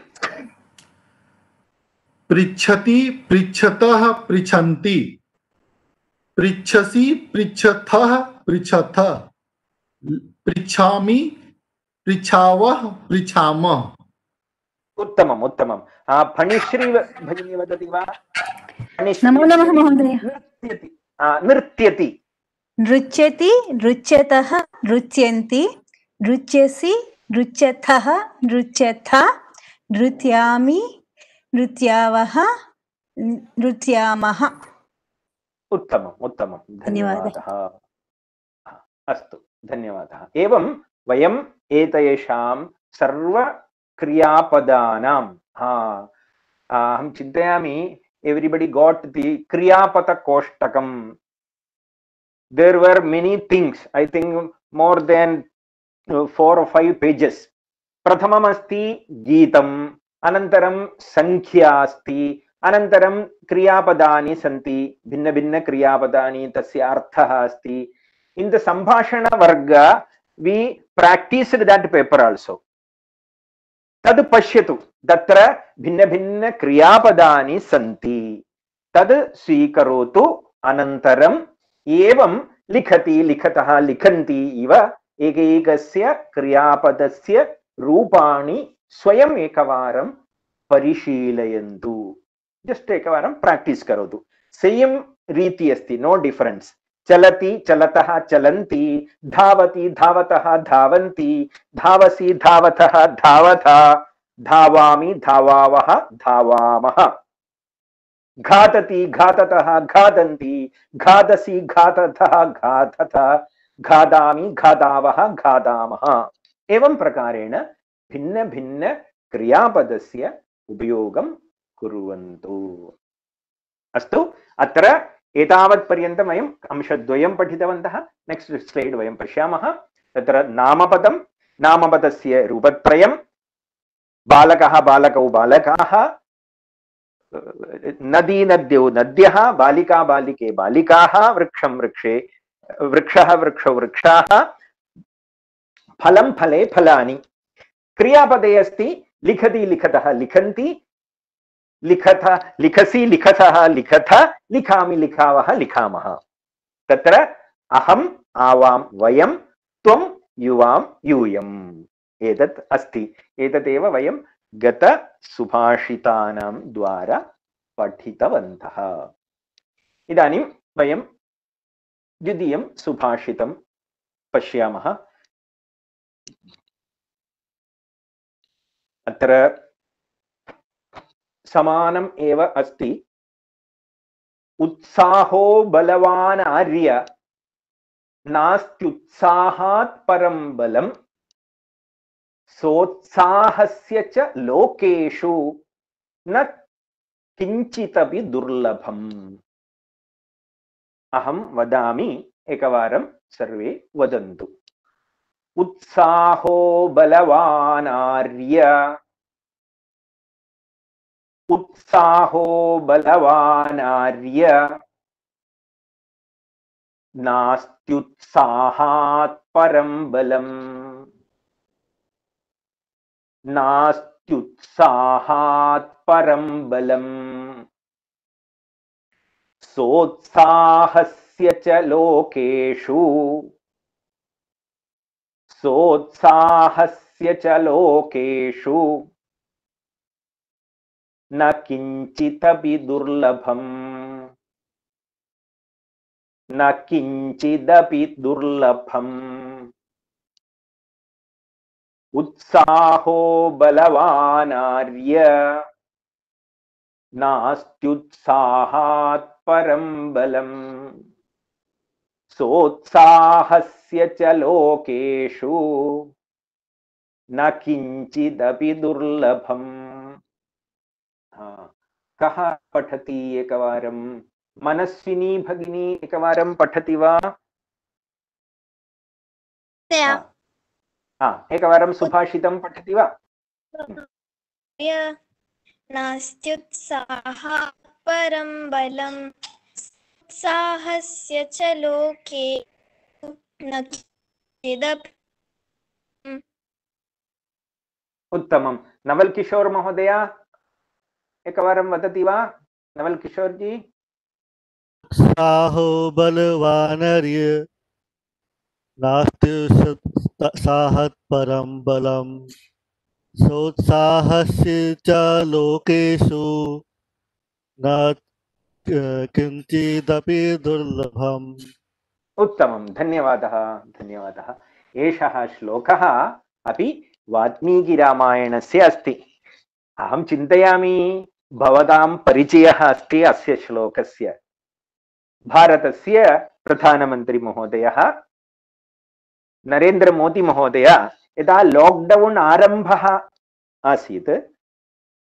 पृच्छति पृच्छतः पृच्छन्ति पृच्छसि पृच्छथः पृच्छथ पृच्छामि पृच्छावः पृच्छामः उत्तमम् उत्तमम् फणिश्री भगिनी वदति वा नमो नमः महोदय नृत्यति नृत्यति नृत्यतः नृत्यन्ति नृत्यसि नृत्यथः नृत्यथ नृत्यामि नृत्यावः नृत्यामः उत्तमम् उत्तमं धन्यवादः अस्तु धन्यवादः एवं वयम् एतेषां सर्वक्रियापदानां अहं चिन्तयामि everybody got the kriyapadakoshtakam. There were many things, I think more than 4 or 5 pages. Prathamam asti geetam, anantaram sankhya asti, anantaram kriyapadani santi, bhinna bhinna kriyapadani tasya arthaha asti. In the sambhashana varga, we practiced that paper also. तद पश्यतु तत्र भिन्न भिन्न क्रियापदानि सन्ति तद स्वीकरोतु अनन्तरं एवं लिखति लिखतः लिखन्ति इव एकैकस्य क्रियापदस्य रूपाणि स्वयं एकवारं परिशीलयन्तु जस्ट एकवारं प्रैक्टिस करोतु सेम रीति अस्ति नो डिफरेंस चलति चलतः चलन्ति धावति धावतः धावन्ति धावसि धावतः धावथ धावामि धावावः धावामः घातति घाततः घादन्ति घादसि घाततः घातथ घादामि घादावः घादामः एवं प्रकारेण भिन्न भिन्न क्रियापदस्य उपयोगं कुर्वन्तु अस्तु अत्र एतावत् पर्यन्तं वयम् अंशद्वयं पठितवन्तः नेक्स्ट स्लाइड वयं पश्यामः तत्र नामपदं नामपदस्य रूपत्रयं बालकः बालकौ बालकाः नदी नद्यौ नद्यः बालिका बालिके बालिकाः वृक्षं वृक्षे वृक्षः वृक्षौ वृक्षाः फलं फले फलानि क्रियापदे अस्ति लिखति लिखतः लिखन्ति लिखथ लिखसि लिखतः लिखथ लिखामि लिखावः लिखामः तत्र अहम् आवां वयं त्वं युवां यूयम् एतत् अस्ति एतदेव वयं गत सुभाषितानां द्वारा पठितवन्तः इदानीं वयं द्वितीयं सुभाषितं पश्यामः अत्र समानम् एव अस्ति उत्साहो बलवान् आर्य नास्त्युत्साहात् परं बलम् सोत्साहस्य च लोकेषु न किञ्चिदपि दुर्लभम्। अहं वदामि, एकवारं सर्वे वदन्तु। उत्साहो बलवानार्य, उत्साहो बलवानार्य, नास्त्युत्साहात् परं बलम्, नास्त्युत्साहात् परं बलम्। सोत्साहस्य च लोकेषु, सोत्साहस्य च लोकेषु न किञ्चिदपि दुर्लभम्, न किञ्चिदपि दुर्लभम्। उत्साहो बलवानार्य, नास्त्युत्साहात् परं बलम्। सोत्साहस्य च लोकेषु न किञ्चिदपि दुर्लभम्। कः पठति एकवारं? मनस्विनी भगिनी एकवारं पठति वा? एकवारं सुभाषितं पठति वा? नास्त्युत्साहात् परं बलम्, उत्साहस्य च लोके न किञ्चिदपि। उत्तमं। नवल किशोर महोदय एकवारं वदति वा? नवल किशोर जी। साहो बलवानर्य, नास्त्युत्साहात् परं बलम्, सोत्साहस्य च लोकेषु न किञ्चिदपि दुर्लभम्। उत्तमं, धन्यवादः, धन्यवादः। एषः श्लोकः अपि वाल्मीकिरामायणस्य अस्ति। अहं चिन्तयामि भवतां परिचयः अस्ति अस्य श्लोकस्य। भारतस्य प्रधानमन्त्री महोदयः नरेन्द्र मोदी महोदय यदा लॉकडाउन आरम्भः आसीत्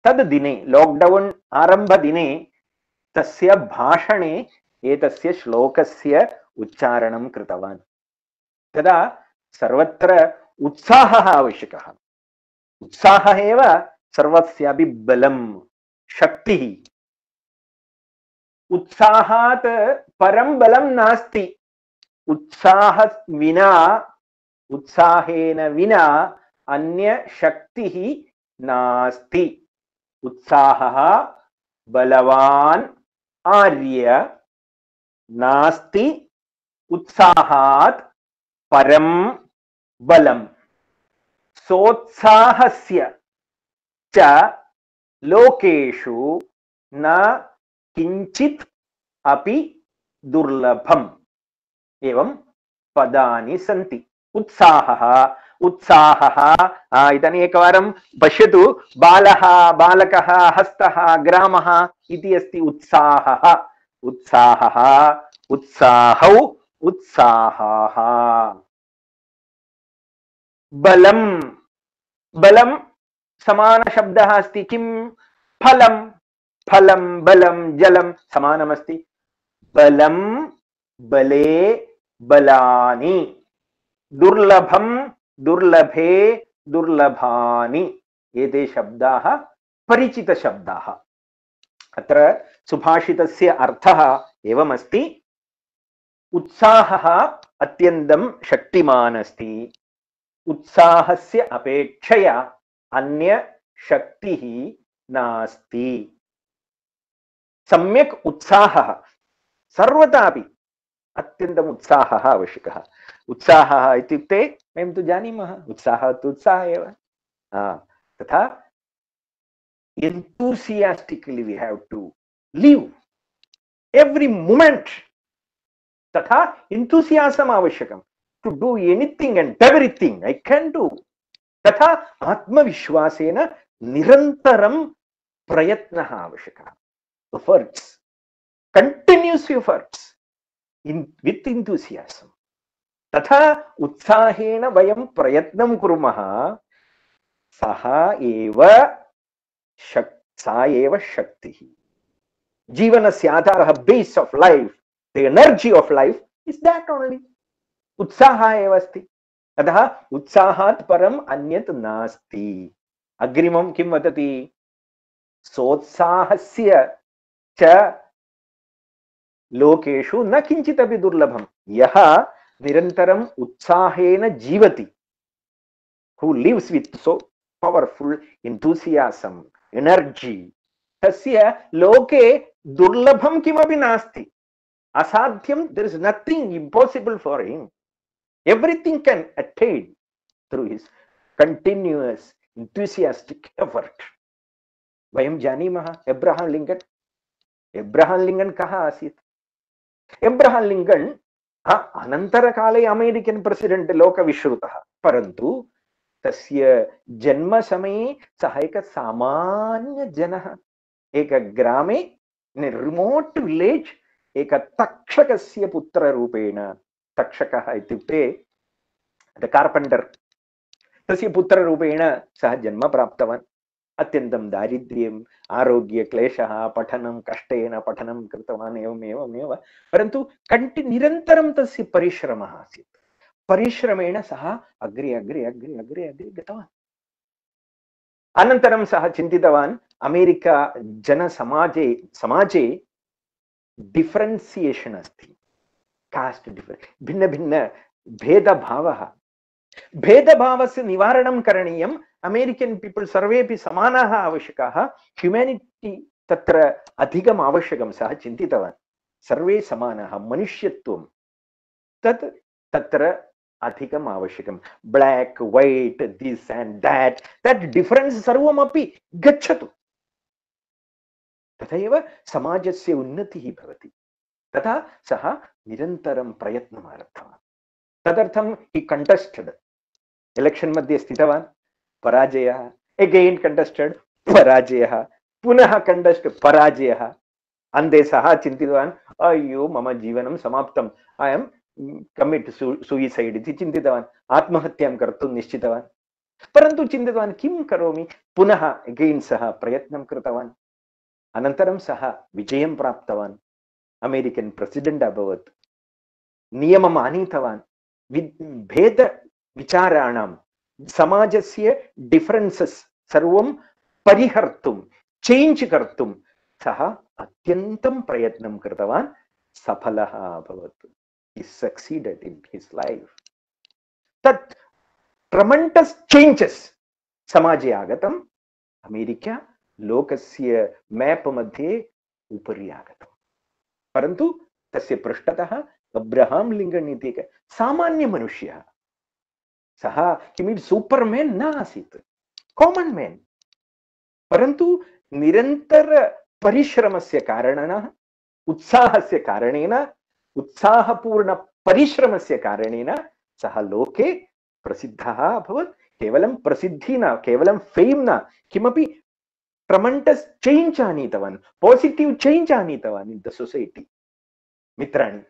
तद् दिने, लॉकडाउन आरम्भदिने तस्य भाषणे एतस्य श्लोकस्य उच्चारणं कृतवान्। तदा सर्वत्र उत्साहः आवश्यकः। उत्साहः एव सर्वस्यापि बलं, शक्तिः। उत्साहात् परं बलं नास्ति। उत्साहेन विना अन्य शक्तिः नास्ति। उत्साहः बलवान् आर्य, नास्ति उत्साहात् परं बलम्। सोत्साहस्य च लोकेषु न किञ्चित् अपि दुर्लभम्। एवं पदानि सन्ति। उत्साहः, उत्साहः। इदानीम् एकवारं पश्यतु। बालः, बालकः, हस्तः, ग्रामः इति अस्ति उत्साहः। उत्साहः, उत्साहौ, उत्साहाः। बलं, बलं समानशब्दः अस्ति। किं? फलं, फलं, बलं, जलं समानमस्ति। बलं, बले, बलानि। दुर्लभं, दुर्लभे, दुर्लभानि। एते शब्दाः परिचितशब्दाः। अत्र सुभाषितस्य अर्थः एवमस्ति। उत्साहः अत्यन्तं शक्तिमान् अस्ति। उत्साहस्य अपेक्षया अन्य शक्तिः नास्ति। सम्यक् उत्साहः सर्वदापि अत्यन्तम् उत्साहः आवश्यकः। उत्साहः इत्युक्ते वयं तु जानीमः, उत्साहः तु उत्साहः एव। तथा enthusiastically we have to live every moment. तथा enthusiasm आवश्यकम्। to do anything and everything I can do. तथा आत्मविश्वासेन निरन्तरं प्रयत्नः आवश्यकः। efforts, continuous efforts with enthusiasm. तथा उत्साहेन वयं प्रयत्नं कुर्मः सः एव सा एव शक्तिः जीवनस्य आधारः base of life the energy of life is that only उत्साहः एव अस्ति अतः उत्साहात् परम् अन्यत् नास्ति अग्रिमं किं वदति सोत्साहस्य च लोकेषु न किञ्चिदपि दुर्लभं यः निरन्तरम् उत्साहेन जीवति who lives with so powerful enthusiasm energy तस्य लोके दुर्लभं किमपि नास्ति असाध्यं there is nothing impossible for him everything can attain through his continuous enthusiastic effort वयं जानीमः एब्रहाम लिंकन कः आसीत् एब्रहाम लिंकन अनन्तरकाले अमेरिकन प्रेसिडेंट लोकविश्रुतः परन्तु तस्य जन्म समये सः एक सामान्य जनः एक ग्रामे रिमोट विलेज एक तक्षकस्य पुत्ररूपेण तक्षकः इत्युक्ते कार्पेंटर तस्य पुत्ररूपेण सः जन्म प्राप्तवान् अत्यन्तं दारिद्र्यम् आरोग्य क्लेशः पठनं कष्टेन पठनं कृतवान् एवमेव परन्तु निरन्तरं तस्य परिश्रमः आसीत् परिश्रमेण सः अग्रे अग्रे अग्रे अग्रे अग्रे गतवान् अनन्तरं सः चिन्तितवान् अमेरिका जनसमाजे समाजे डिफरेन्सिएशन् अस्ति कास्ट भिन्न भिन्न भेदभावः भेदभावस्य निवारणं करणीयम् अमेरिकन पीपल सर्वेपि समानाः आवश्यकाः ह्यूमैनिटी तत्र अधिकम् आवश्यकं सः चिन्तितवान् सर्वे समानाः मनुष्यत्वं तत् तत्र अधिकम् आवश्यकं black white this and that difference सर्वमपि गच्छतु तथैव समाजस्य उन्नतिः भवति तथा सः निरन्तरं प्रयत्नम् आरब्धवान् तदर्थं हि कंटेस्टेड इलेक्शन मध्ये स्थितवान् पराजयः अगेन कंटेस्टेड पराजयः पुनः कंटेस्ट पराजयः अन्ते सः चिन्तितवान् अय्यो मम जीवनं समाप्तम् आई एम कमिट सुइसाइड इति चिन्तितवान् आत्महत्यां कर्तुं निश्चितवान् परन्तु चिन्तितवान् किं करोमि पुनः अगेन सः प्रयत्नं कृतवान् अनन्तरं सः विजयं प्राप्तवान् अमेरिकन प्रेसिडेंट अभवत् नियमम् आनीतवान् भेद विचाराणां समाजस्य डिफरेन्सेस् सर्वं परिहर्तुं चेंज कर्तुं सः अत्यन्तं प्रयत्नं कृतवान् सफलः अभवत् he succeeded in his life तत् ट्रमेंडस् चेंजेस समाजे आगतम् अमेरिका लोकस्य मैप मध्ये उपरि आगतम् परन्तु तस्य पृष्ठतः अब्रहाम लिंकन इति एकः सामान्य मनुष्यः सः किमिति सूपर्मैन् न आसीत् कॉमन मैन परन्तु निरन्तर परिश्रमस्य कारणेन उत्साहस्य कारणेन उत्साहपूर्ण परिश्रमस्य कारणेन सः लोके प्रसिद्धः अभवत् केवलं प्रसिद्धि न केवलं फेम न किमपि ट्रमेंडस् चेंज आनीतवान् पॉजिटिव चेंज आनीतवान् इन द सोसाइटी मित्राणि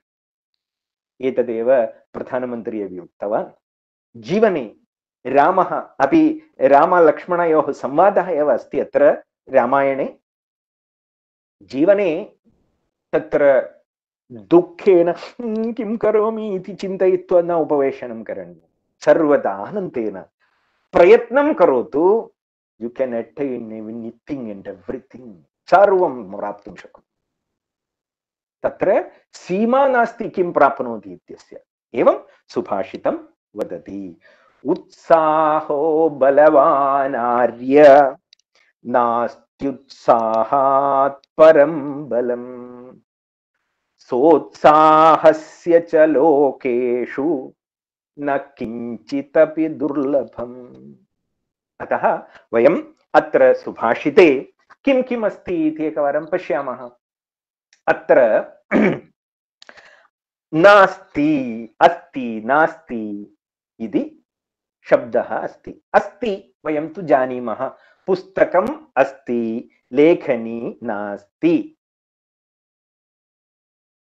एतदेव प्रधानमन्त्री अपि उक्तवान् जीवने रामः अपि रामलक्ष्मणयोः संवादः एव अस्ति अत्र रामायणे जीवने तत्र दुःखेन किं करोमि इति चिन्तयित्वा न उपवेशनं करणीयं सर्वदा आनन्देन प्रयत्नं करोतु you can attain anything and everything सर्वं प्राप्तुं शक्नोति तत्र सीमा नास्ति किं प्राप्नोति इत्यस्य एवं सुभाषितं वदति उत्साहो बलवान् आर्य नास्त्युत्साहात् परं बलम् सोत्साहस्य च लोकेषु न किञ्चिदपि दुर्लभम् अतः वयम् अत्र सुभाषिते किं किम् अस्ति इति एकवारं पश्यामः अत्र नास्ति अस्ति नास्ति इति शब्दः अस्ति अस्ति वयं तु जानीमः पुस्तकम् अस्ति लेखनी नास्ति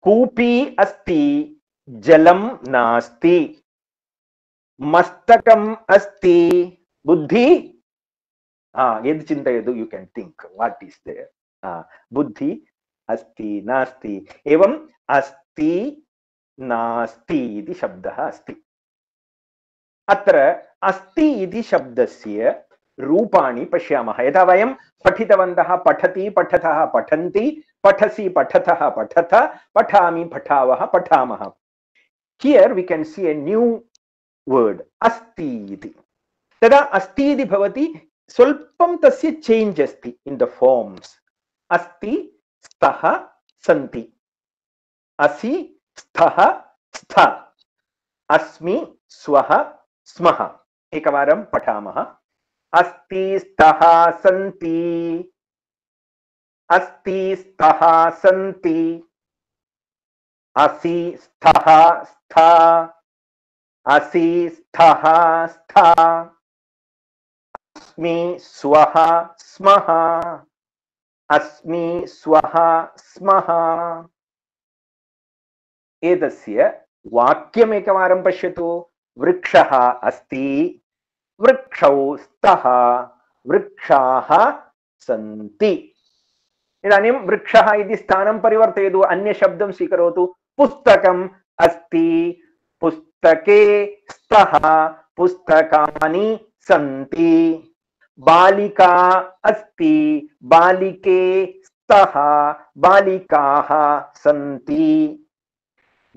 कूपी अस्ति जलं नास्ति मस्तकम् अस्ति बुद्धि यद् चिन्तयतु you can think what is there बुद्धि अस्ति नास्ति एवं अस्ति नास्ति इति शब्दः अस्ति अत्र अस्ति इति शब्दस्य रूपाणि पश्यामः यथा वयं पठितवन्तः पठति पठतः पठन्ति पठसि पठतः पठत पठामि पठावः पठामः here we can see a new word अस्ति इति तदा अस्ति इति भवति स्वल्पं तस्य चेंज अस्ति इन द फॉर्म्स अस्ति स्तः सन्ति असि स्तः स्थ अस्मि स्वः स्मः एकवारं पठामः अस्ति स्तः सन्ति अस्ति स्तः सन्ति असि स्तः स्थ असि स्तः स्थ अस्मि स्वः स्मः अस्मि स्वः स्मः एतस्य वाक्यम् एकवारं पश्यतु वृक्षः अस्ति वृक्षौ स्तः वृक्षाः सन्ति इदानीं वृक्षः इति स्थानं परिवर्तयतु अन्य शब्दं स्वीकरोतु पुस्तकम् अस्ति पुस्तके स्तः पुस्तकानि सन्ति बालिका अस्ति बालिके स्तः बालिकाः सन्ति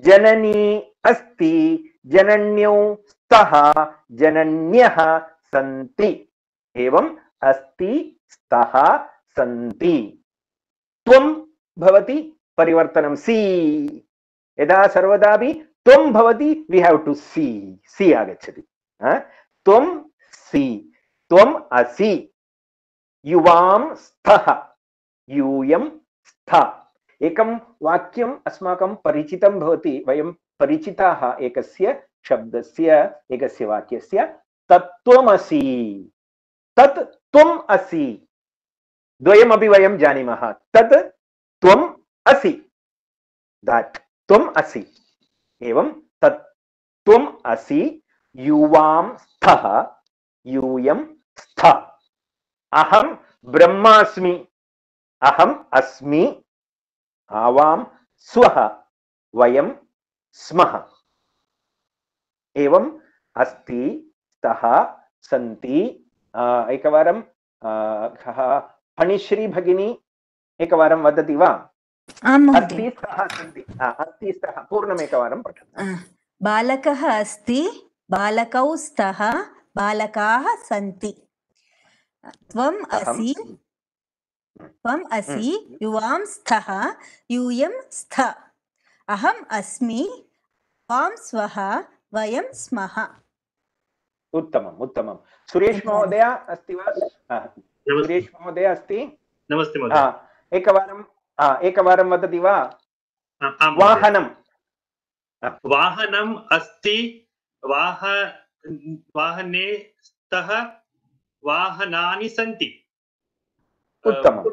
जननी अस्ति जनन्यौ स्तः जनन्यः सन्ति एवं अस्ति स्तः सन्ति त्वं भवति परिवर्तनं सी यदा सर्वदापि त्वं भवति वी हैव टू सी आगच्छति त्वं सी त्वम् असि युवां स्तः यूयं स्त एकं वाक्यम् अस्माकं परिचितं भवति वयं परिचिताः एकस्य शब्दस्य एकस्य वाक्यस्य तत्त्वमसि तत् त्वम् असि द्वयमपि वयं जानीमः तत् त्वम् असि दट् त्वम् असि एवं तत् त्वम् असि युवां स्तः यूयं स्थ अहं ब्रह्मास्मि अहम् अस्मि आवां स्वः वयं स्मः एवं अस्ति स्तः सन्ति एकवारं फणिश्री भगिनी एकवारं वदति वा अस्ति स्तः सन्ति अस्ति स्तः पूर्णमेकवारं पठतु बालकः अस्ति बालकौ स्तः बालकाः सन्ति त्वम् असि युवां स्तः यूयं स्थ अहम् अस्मि त्वां स्वः वयं स्मः उत्तमम् उत्तमं सुरेश महोदय अस्ति वा सुरेश महोदय अस्ति नमस्ते महोदय एकवारं वदति वा वाहनं वाहनम् अस्ति वाहने स्तः वाहनानि सन्ति उत्तमं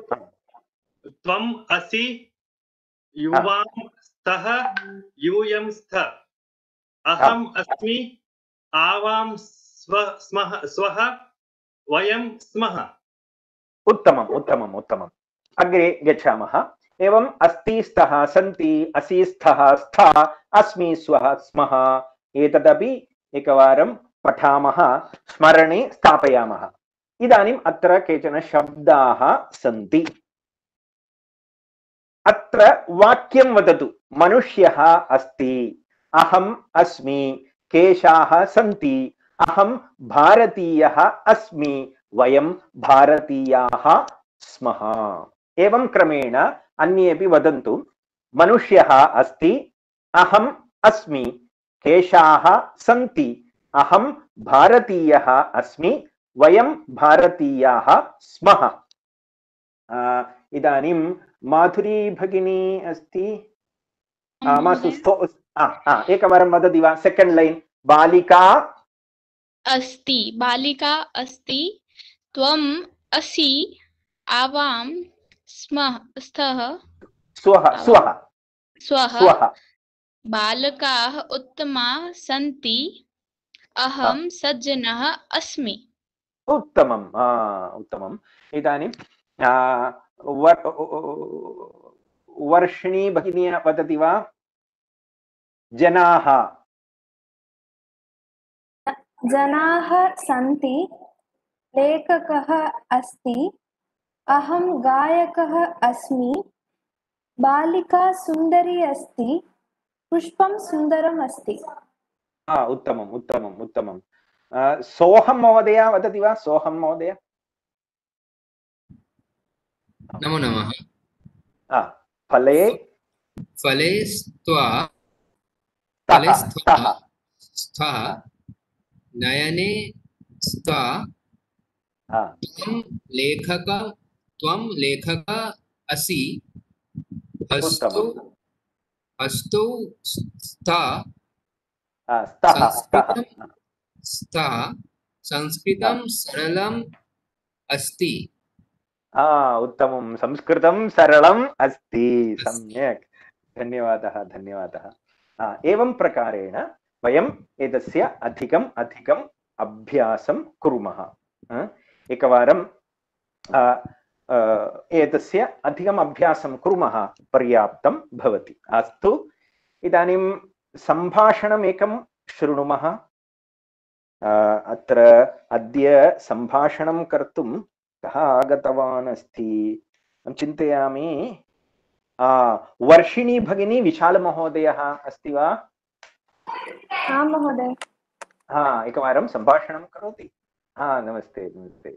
त्वम् असि युवां स्तः यूयं स्थ अहम् अस्मि आवां स्वः वयं स्मः उत्तमम् उत्तमम् उत्तमम् अग्रे गच्छामः एवम् अस्ति स्तः सन्ति असि स्तः स्थ अस्मि स्वः स्मः एतदपि एकवारं पठामः स्मरणे स्थापयामः इदानीम् अत्र केचन शब्दाः सन्ति अत्र वाक्यं वदतु मनुष्यः अस्ति अहम् अस्मि केशाः सन्ति अहं भारतीयः अस्मि वयं भारतीयाः स्मः एवं क्रमेण अन्येपि वदन्तु मनुष्यः अस्ति अहम् अस्मि केशाः सन्ति अहं भारतीयः अस्मि वयं भारतीयाः स्मः इदानीं माधुरी भगिनी अस्ति एकवारं वदति वा सेकेंड लाइन बालिका अस्ति त्वम् असि आवां स्तः स्वः बालकाः उत्तमाः सन्ति अहं सज्जनः अस्मि उत्तमम् उत्तमम् इदानीं वर्षिणी भगिनी वदति वा जनाः जनाः सन्ति लेखकः अस्ति अहं गायकः अस्मि बालिका सुन्दरी अस्ति पुष्पं सुन्दरम् अस्ति उत्तमम् उत्तमम् उत्तमं सोऽहं महोदय वदति वा सोऽहं महोदय नमो नमः फले फले स्थः नयने स्था त्वं लेखक असि हस्तौ स्तः संस्कृतं सरलम् अस्ति उत्तमं संस्कृतं सरलम् अस्ति सम्यक् धन्यवादः धन्यवादः एवं प्रकारेण वयम् एतस्य अधिकम् अभ्यासं कुर्मः एकवारं एतस्य अधिकम् अभ्यासं कुर्मः पर्याप्तं भवति अस्तु इदानीं सम्भाषणम् एकं शृणुमः अत्र अद्य सम्भाषणं कर्तुं कः आगतवान् अस्ति चिन्तयामि वर्षिणी भगिनी विशालमहोदयः अस्ति वा आं महोदय एकवारं सम्भाषणं करोति नमस्ते नमस्ते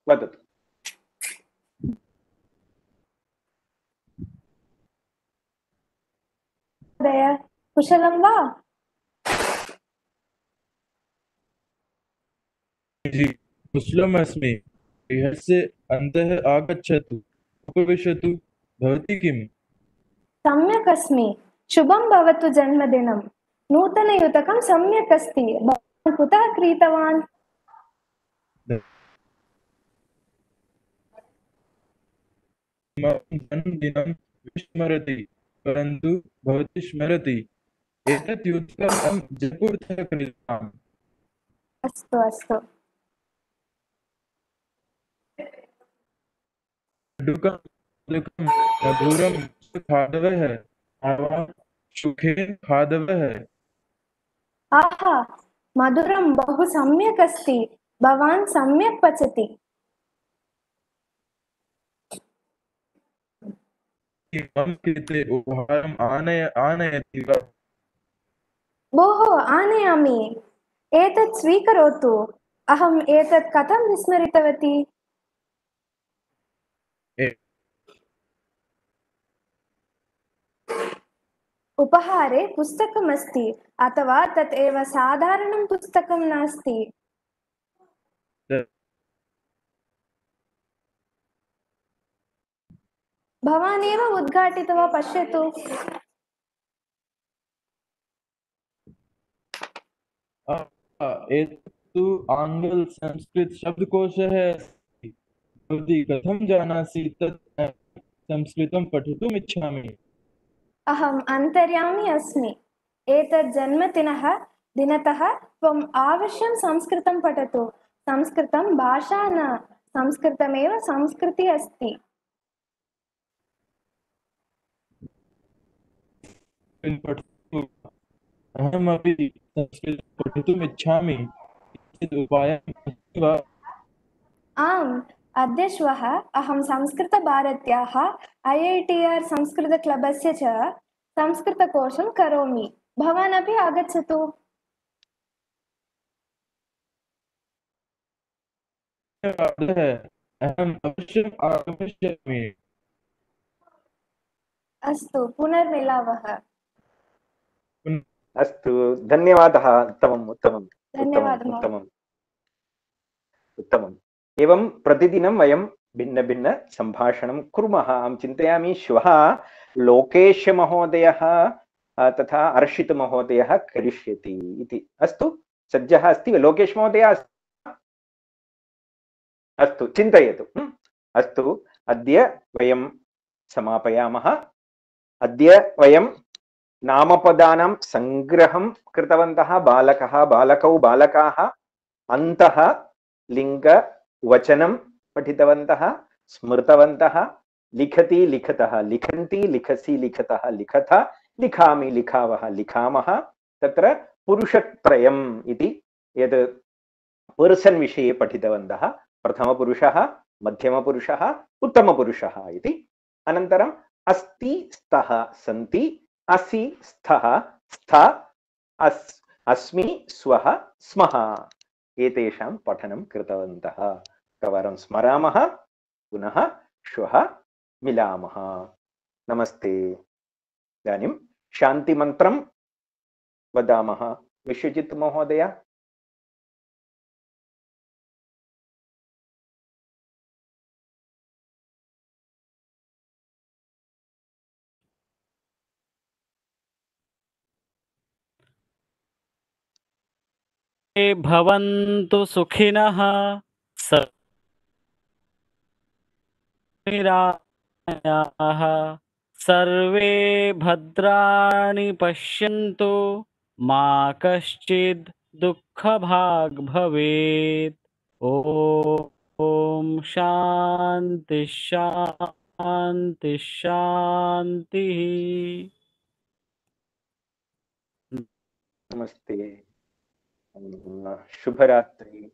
वदतु कुशलं वा कुशलमस्मि गृहस्य अन्तः आगच्छतु उपविशतु भवती किम् सम्यक् अस्मि शुभं भवतु जन्मदिनं नूतनयुतकं सम्यक् अस्ति भवान् कुतः क्रीतवान् जन्मदिनं विस्मरति परन्तु भवती स्मरति एतत् युतकम् अहं जयपुरतः क्रीतवान् अस्तु अस्तु मधुरं खादवः आवां सुखेन खादवः आहा मधुरं बहु सम्यक् अस्ति भवान् सम्यक् पचति मम कृते उपहारम् आनयति वा भोः आनयामि एतत् स्वीकरोतु अहम् एतत् कथं विस्मरितवती उपहारे पुस्तकम् अस्ति अथवा तत् एव साधारणं पुस्तकं नास्ति भवान् एव उद्घाटित्वा पश्यतु एतत्तु आङ्ग्ल संस्कृत शब्दकोशः अस्ति भवती कथं जानासि तत् संस्कृतं पठितुम् इच्छामि अहम् अन्तर्यामी अस्मि एतत् दिनतः त्वम् अवश्यं संस्कृतं पठतु संस्कृतं भाषा न संस्कृतमेव संस्कृतिः अस्ति अहमपि संस्कृतं पठितुम् इच्छामि उपायः वा आम् अद्य श्वः अहं संस्कृतभारत्याः IITR संस्कृतक्लबस्य च संस्कृतकोशं करोमि भवान् अपि आगच्छतु अहम् अवश्यम् आगमिष्यामि अस्तु पुनर्मिलावः अस्तु धन्यवादः उत्तमम् उत्तमम् धन्यवादः उत्तमम् एवं प्रतिदिनं वयं भिन्न भिन्न सम्भाषणं कुर्मः अहं चिन्तयामि श्वः लोकेशमहोदयः तथा अर्षितमहोदयः करिष्यति इति अस्तु सज्जः अस्ति लोकेशमहोदय अस्तु चिन्तयतु अस्तु अद्य वयं समापयामः अद्य वयं नामपदानां संग्रहं कृतवन्तः बालकः बालकौ बालकाः अन्तः लिङ्गवचनं पठितवन्तः स्मृतवन्तः लिखति लिखतः लिखन्ति लिखसि लिखतः लिखथ लिखामि लिखावः लिखामः तत्र पुरुषत्रयम् इति यद् पर्सन् विषये पठितवन्तः प्रथमपुरुषः मध्यमपुरुषः उत्तमपुरुषः इति अनन्तरम् अस्ति स्तः सन्ति असि स्थः स्थ अस्मि स्वः स्मः एतेषां पठनं कृतवन्तः एकवारं स्मरामः पुनः श्वः मिलामः नमस्ते इदानीं शान्तिमन्त्रं वदामः विश्वजित् महोदय भवन्तु सुखिनः निरामयाः सर्वे भद्राणि पश्यन्तु मा कश्चित् दुःखभाग् भवेत् ॐ शान्ति शान्ति शान्तिः नमस्ते शुभरात्रि